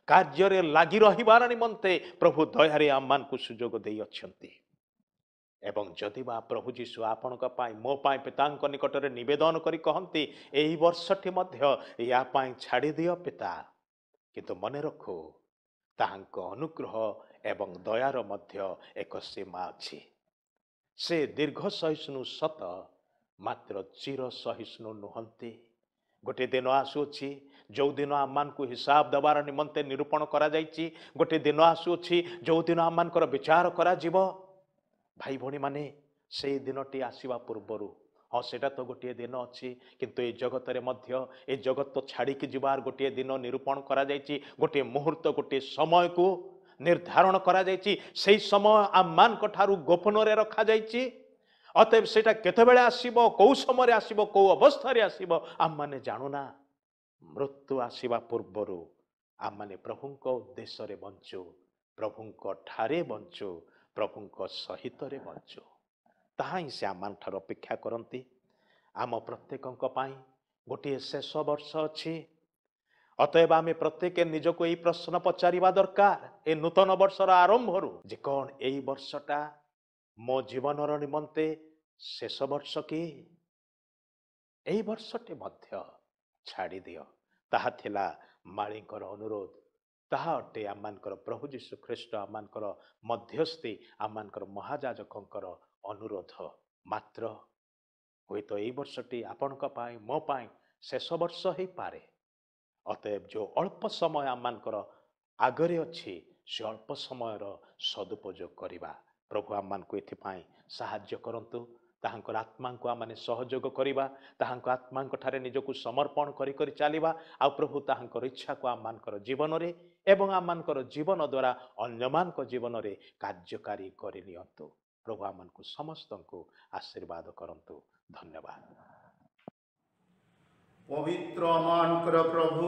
କାର୍ଯ୍ୟରେ ଲାଗି ରହିବାର ନିମନ୍ତେ ପ୍ରଭୁ ଦୟାରେ ଆମମାନଙ୍କୁ ସୁଯୋଗ ଦେଇଅଛନ୍ତି। ଏବଂ ଯଦି ବା ପ୍ରଭୁ ଯୀଶୁ ଆପଣଙ୍କ ପାଇଁ, ମୋ ପାଇଁ ପିତାଙ୍କ ନିକଟରେ ନିବେଦନ କରି କହନ୍ତି, ଏହି ବର୍ଷଟି ମଧ୍ୟ ୟା ପାଇଁ ଛାଡ଼ିଦିଅ ପିତା, କିନ୍ତୁ ମନେ ରଖୁ ତାହାଙ୍କ ଅନୁଗ୍ରହ ଏବଂ ଦୟାର ମଧ୍ୟ ଏକ ସୀମା ଅଛି। ସେ ଦୀର୍ଘ ସହିଷ୍ଣୁ ସତ, ମାତ୍ର ଚିର ସହିଷ୍ଣୁ ନୁହନ୍ତି। ଗୋଟିଏ ଦିନ ଆସୁଅଛି ଯେଉଁଦିନ ଆମମାନଙ୍କୁ ହିସାବ ଦେବାର ନିମନ୍ତେ ନିରୂପଣ କରାଯାଇଛି। ଗୋଟିଏ ଦିନ ଆସୁଅଛି ଯେଉଁଦିନ ଆମମାନଙ୍କର ବିଚାର କରାଯିବ। ଭାଇ ଭଉଣୀମାନେ, ସେଇ ଦିନଟି ଆସିବା ପୂର୍ବରୁ, ହଁ ସେଇଟା ତ ଗୋଟିଏ ଦିନ ଅଛି, କିନ୍ତୁ ଏ ଜଗତରେ ମଧ୍ୟ ଏ ଜଗତ ଛାଡ଼ିକି ଯିବାର ଗୋଟିଏ ଦିନ ନିରୂପଣ କରାଯାଇଛି, ଗୋଟିଏ ମୁହୂର୍ତ୍ତ, ଗୋଟିଏ ସମୟକୁ ନିର୍ଦ୍ଧାରଣ କରାଯାଇଛି। ସେଇ ସମୟ ଆମମାନଙ୍କ ଠାରୁ ଗୋପନରେ ରଖାଯାଇଛି। ଅତଏବ ସେଇଟା କେତେବେଳେ ଆସିବ, କେଉଁ ସମୟରେ ଆସିବ, କେଉଁ ଅବସ୍ଥାରେ ଆସିବ, ଆମମାନେ ଜାଣୁନା। ମୃତ୍ୟୁ ଆସିବା ପୂର୍ବରୁ ଆମମାନେ ପ୍ରଭୁଙ୍କ ଉଦ୍ଦେଶ୍ୟରେ ବଞ୍ଚୁ, ପ୍ରଭୁଙ୍କ ଠାରେ ବଞ୍ଚୁ, ପ୍ରଭୁଙ୍କ ସହିତରେ ବଞ୍ଚୁ। ତାହା ହିଁ ସେ ଆମମାନଠାରୁ ଅପେକ୍ଷା କରନ୍ତି। ଆମ ପ୍ରତ୍ୟେକଙ୍କ ପାଇଁ ଗୋଟିଏ ଶେଷ ବର୍ଷ ଅଛି। ଅତଏବ ଆମେ ପ୍ରତ୍ୟେକ ନିଜକୁ ଏଇ ପ୍ରଶ୍ନ ପଚାରିବା ଦରକାର ଏ ନୂତନ ବର୍ଷର ଆରମ୍ଭରୁ ଯେ କ'ଣ ଏଇ ବର୍ଷଟା ମୋ ଜୀବନର ନିମନ୍ତେ ଶେଷ ବର୍ଷ କି? ଏଇ ବର୍ଷଟି ମଧ୍ୟ ଛାଡ଼ିଦିଅ, ତାହା ଥିଲା ମାଳୀଙ୍କର ଅନୁରୋଧ। ତାହା ଅଟେ ଆମମାନଙ୍କର ପ୍ରଭୁ ଯୀଶୁ ଖ୍ରୀଷ୍ଟ, ଆମମାନଙ୍କର ମଧ୍ୟସ୍ଥି, ଆମମାନଙ୍କର ମହାଯାଜକଙ୍କର ଅନୁରୋଧ। ମାତ୍ର ହୁଏତ ଏଇ ବର୍ଷଟି ଆପଣଙ୍କ ପାଇଁ, ମୋ ପାଇଁ ଶେଷ ବର୍ଷ ହେଇପାରେ। ଅତଏବ ଯେଉଁ ଅଳ୍ପ ସମୟ ଆମମାନଙ୍କର ଆଗରେ ଅଛି, ସେ ଅଳ୍ପ ସମୟର ସଦୁପଯୋଗ କରିବା। ପ୍ରଭୁ ଆମମାନଙ୍କୁ ଏଥିପାଇଁ ସାହାଯ୍ୟ କରନ୍ତୁ। ତାହାଙ୍କର ଆତ୍ମାଙ୍କୁ ଆମମାନେ ସହଯୋଗ କରିବା, ତାହାଙ୍କ ଆତ୍ମାଙ୍କ ଠାରେ ନିଜକୁ ସମର୍ପଣ କରି କରି ଚାଲିବା ଆଉ ପ୍ରଭୁ ତାହାଙ୍କର ଇଚ୍ଛାକୁ ଆମମାନଙ୍କର ଜୀବନରେ ଏବଂ ଆମମାନଙ୍କର ଜୀବନ ଦ୍ୱାରା ଅନ୍ୟମାନଙ୍କ ଜୀବନରେ କାର୍ଯ୍ୟକାରୀ କରିନିଅନ୍ତୁ। ପ୍ରଭୁ ଆମମାନଙ୍କୁ ସମସ୍ତଙ୍କୁ ଆଶୀର୍ବାଦ କରନ୍ତୁ। ଧନ୍ୟବାଦ। ପବିତ୍ର ଆମମାନଙ୍କର ପ୍ରଭୁ,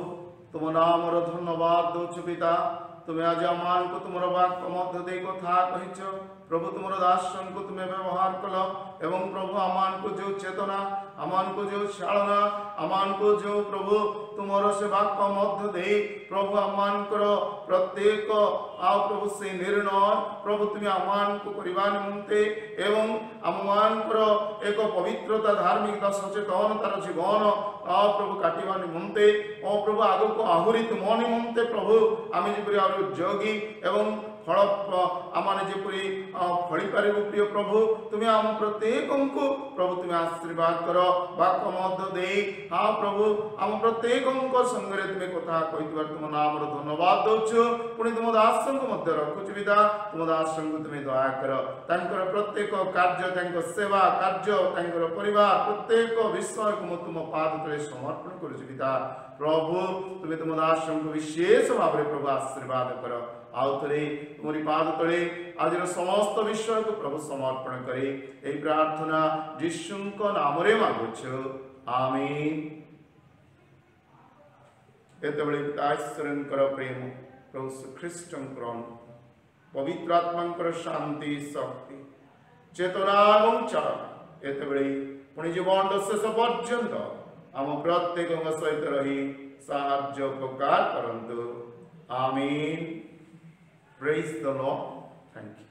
ତୁମ ନାମର ଧନ୍ୟବାଦ ଦଉଛୁ ପିତା। ତୁମେ ଆଜି ଆମମାନଙ୍କୁ ତୁମର ବାକ୍ୟ ମଧ୍ୟ ଦେଇ କଥା କହିଛ। ପ୍ରଭୁ, ତୁମର ଦାସଙ୍କୁ ତୁମେ ବ୍ୟବହାର କଲ ଏବଂ ପ୍ରଭୁ ଆମମାନଙ୍କୁ ଯେଉଁ ଚେତନା, ଆମମାନଙ୍କୁ ଯେଉଁ ଚାଳନା, ଆମମାନଙ୍କୁ ଯେଉଁ ପ୍ରଭୁ ତୁମର ସେ ବାକ୍ୟ ମଧ୍ୟ ଦେଇ ପ୍ରଭୁ ଆମମାନଙ୍କର ପ୍ରତ୍ୟେକ ଆଉ ପ୍ରଭୁ ସେ ନିର୍ଣ୍ଣୟ ପ୍ରଭୁ ତୁମେ ଆମମାନଙ୍କୁ କରିବା ନିମନ୍ତେ ଏବଂ ଆମମାନଙ୍କର ଏକ ପବିତ୍ରତା, ଧାର୍ମିକତା, ସଚେତନତାର ଜୀବନ ଆଉ ପ୍ରଭୁ କାଟିବା ନିମନ୍ତେ ଓ ପ୍ରଭୁ ଆଗକୁ ଆହୁରି ତୁମ ନିମନ୍ତେ ପ୍ରଭୁ ଆମେ ଯେପରି ଆହୁରି ଯୋଗୀ ଏବଂ ଫଳ ଆମମାନେ ଯେପରି ଫଳିପାରିବୁ, ପ୍ରିୟ ପ୍ରଭୁ, ତୁମେ ଆମ ପ୍ରତ୍ୟେକଙ୍କୁ ପ୍ରଭୁ ତୁମେ ଆଶୀର୍ବାଦ କର। ବାକ୍ୟ ମଧ୍ୟ ଦେଇ ହଁ ପ୍ରଭୁ ଆମ ପ୍ରତ୍ୟେକଙ୍କ ସଙ୍ଗରେ ତୁମେ କଥା କହିଥିବାରୁ ତୁମ ନାମର ଧନ୍ୟବାଦ ଦଉଛୁ। ପୁଣି ତୁମ ଦାସଙ୍କୁ ମଧ୍ୟ ରଖୁଛୁ ପିତା, ତୁମ ଦାସଙ୍କୁ ତୁମେ ଦୟା କର। ତାଙ୍କର ପ୍ରତ୍ୟେକ କାର୍ଯ୍ୟ, ତାଙ୍କ ସେବା କାର୍ଯ୍ୟ, ତାଙ୍କର ପରିବାର, ପ୍ରତ୍ୟେକ ବିଷୟକୁ ମୁଁ ତୁମ ପାଦ ତଳେ ସମର୍ପଣ କରୁଛି ପିତା। ପ୍ରଭୁ, ତୁମେ ତୁମ ଦାସଙ୍କୁ ବିଶେଷ ଭାବରେ ପ୍ରଭୁ ଆଶୀର୍ବାଦ କର। ଆଉ ଥରେ ତୁମରି ପାଦ ତଳେ ଆଜିର ସମସ୍ତ ବିଷୟକୁ ପ୍ରଭୁ ସମର୍ପଣ କରି ଏହି ପ୍ରାର୍ଥନା ଯୀଶୁଙ୍କ ନାମରେ ମାଗୁଛୁ, ଆମିନ। ଏତେବେଳେ ପିତା ଈଶ୍ୱରଙ୍କର ପ୍ରେମ, ପ୍ରଭୁ ଖ୍ରୀଷ୍ଟଙ୍କର ପବିତ୍ର ଆତ୍ମାଙ୍କର ଶାନ୍ତି, ଶକ୍ତି, ଚେତନା ଏବଂ ଚାଳନା ଏତେବେଳେ ପୁଣି ଜୀବନର ଶେଷ ପର୍ଯ୍ୟନ୍ତ ଆମ ପ୍ରତ୍ୟେକଙ୍କ ସହିତ ରହି ସାହାଯ୍ୟ ଉପକାର କରନ୍ତୁ। ଆମିନ। Praise the Lord. Thank you.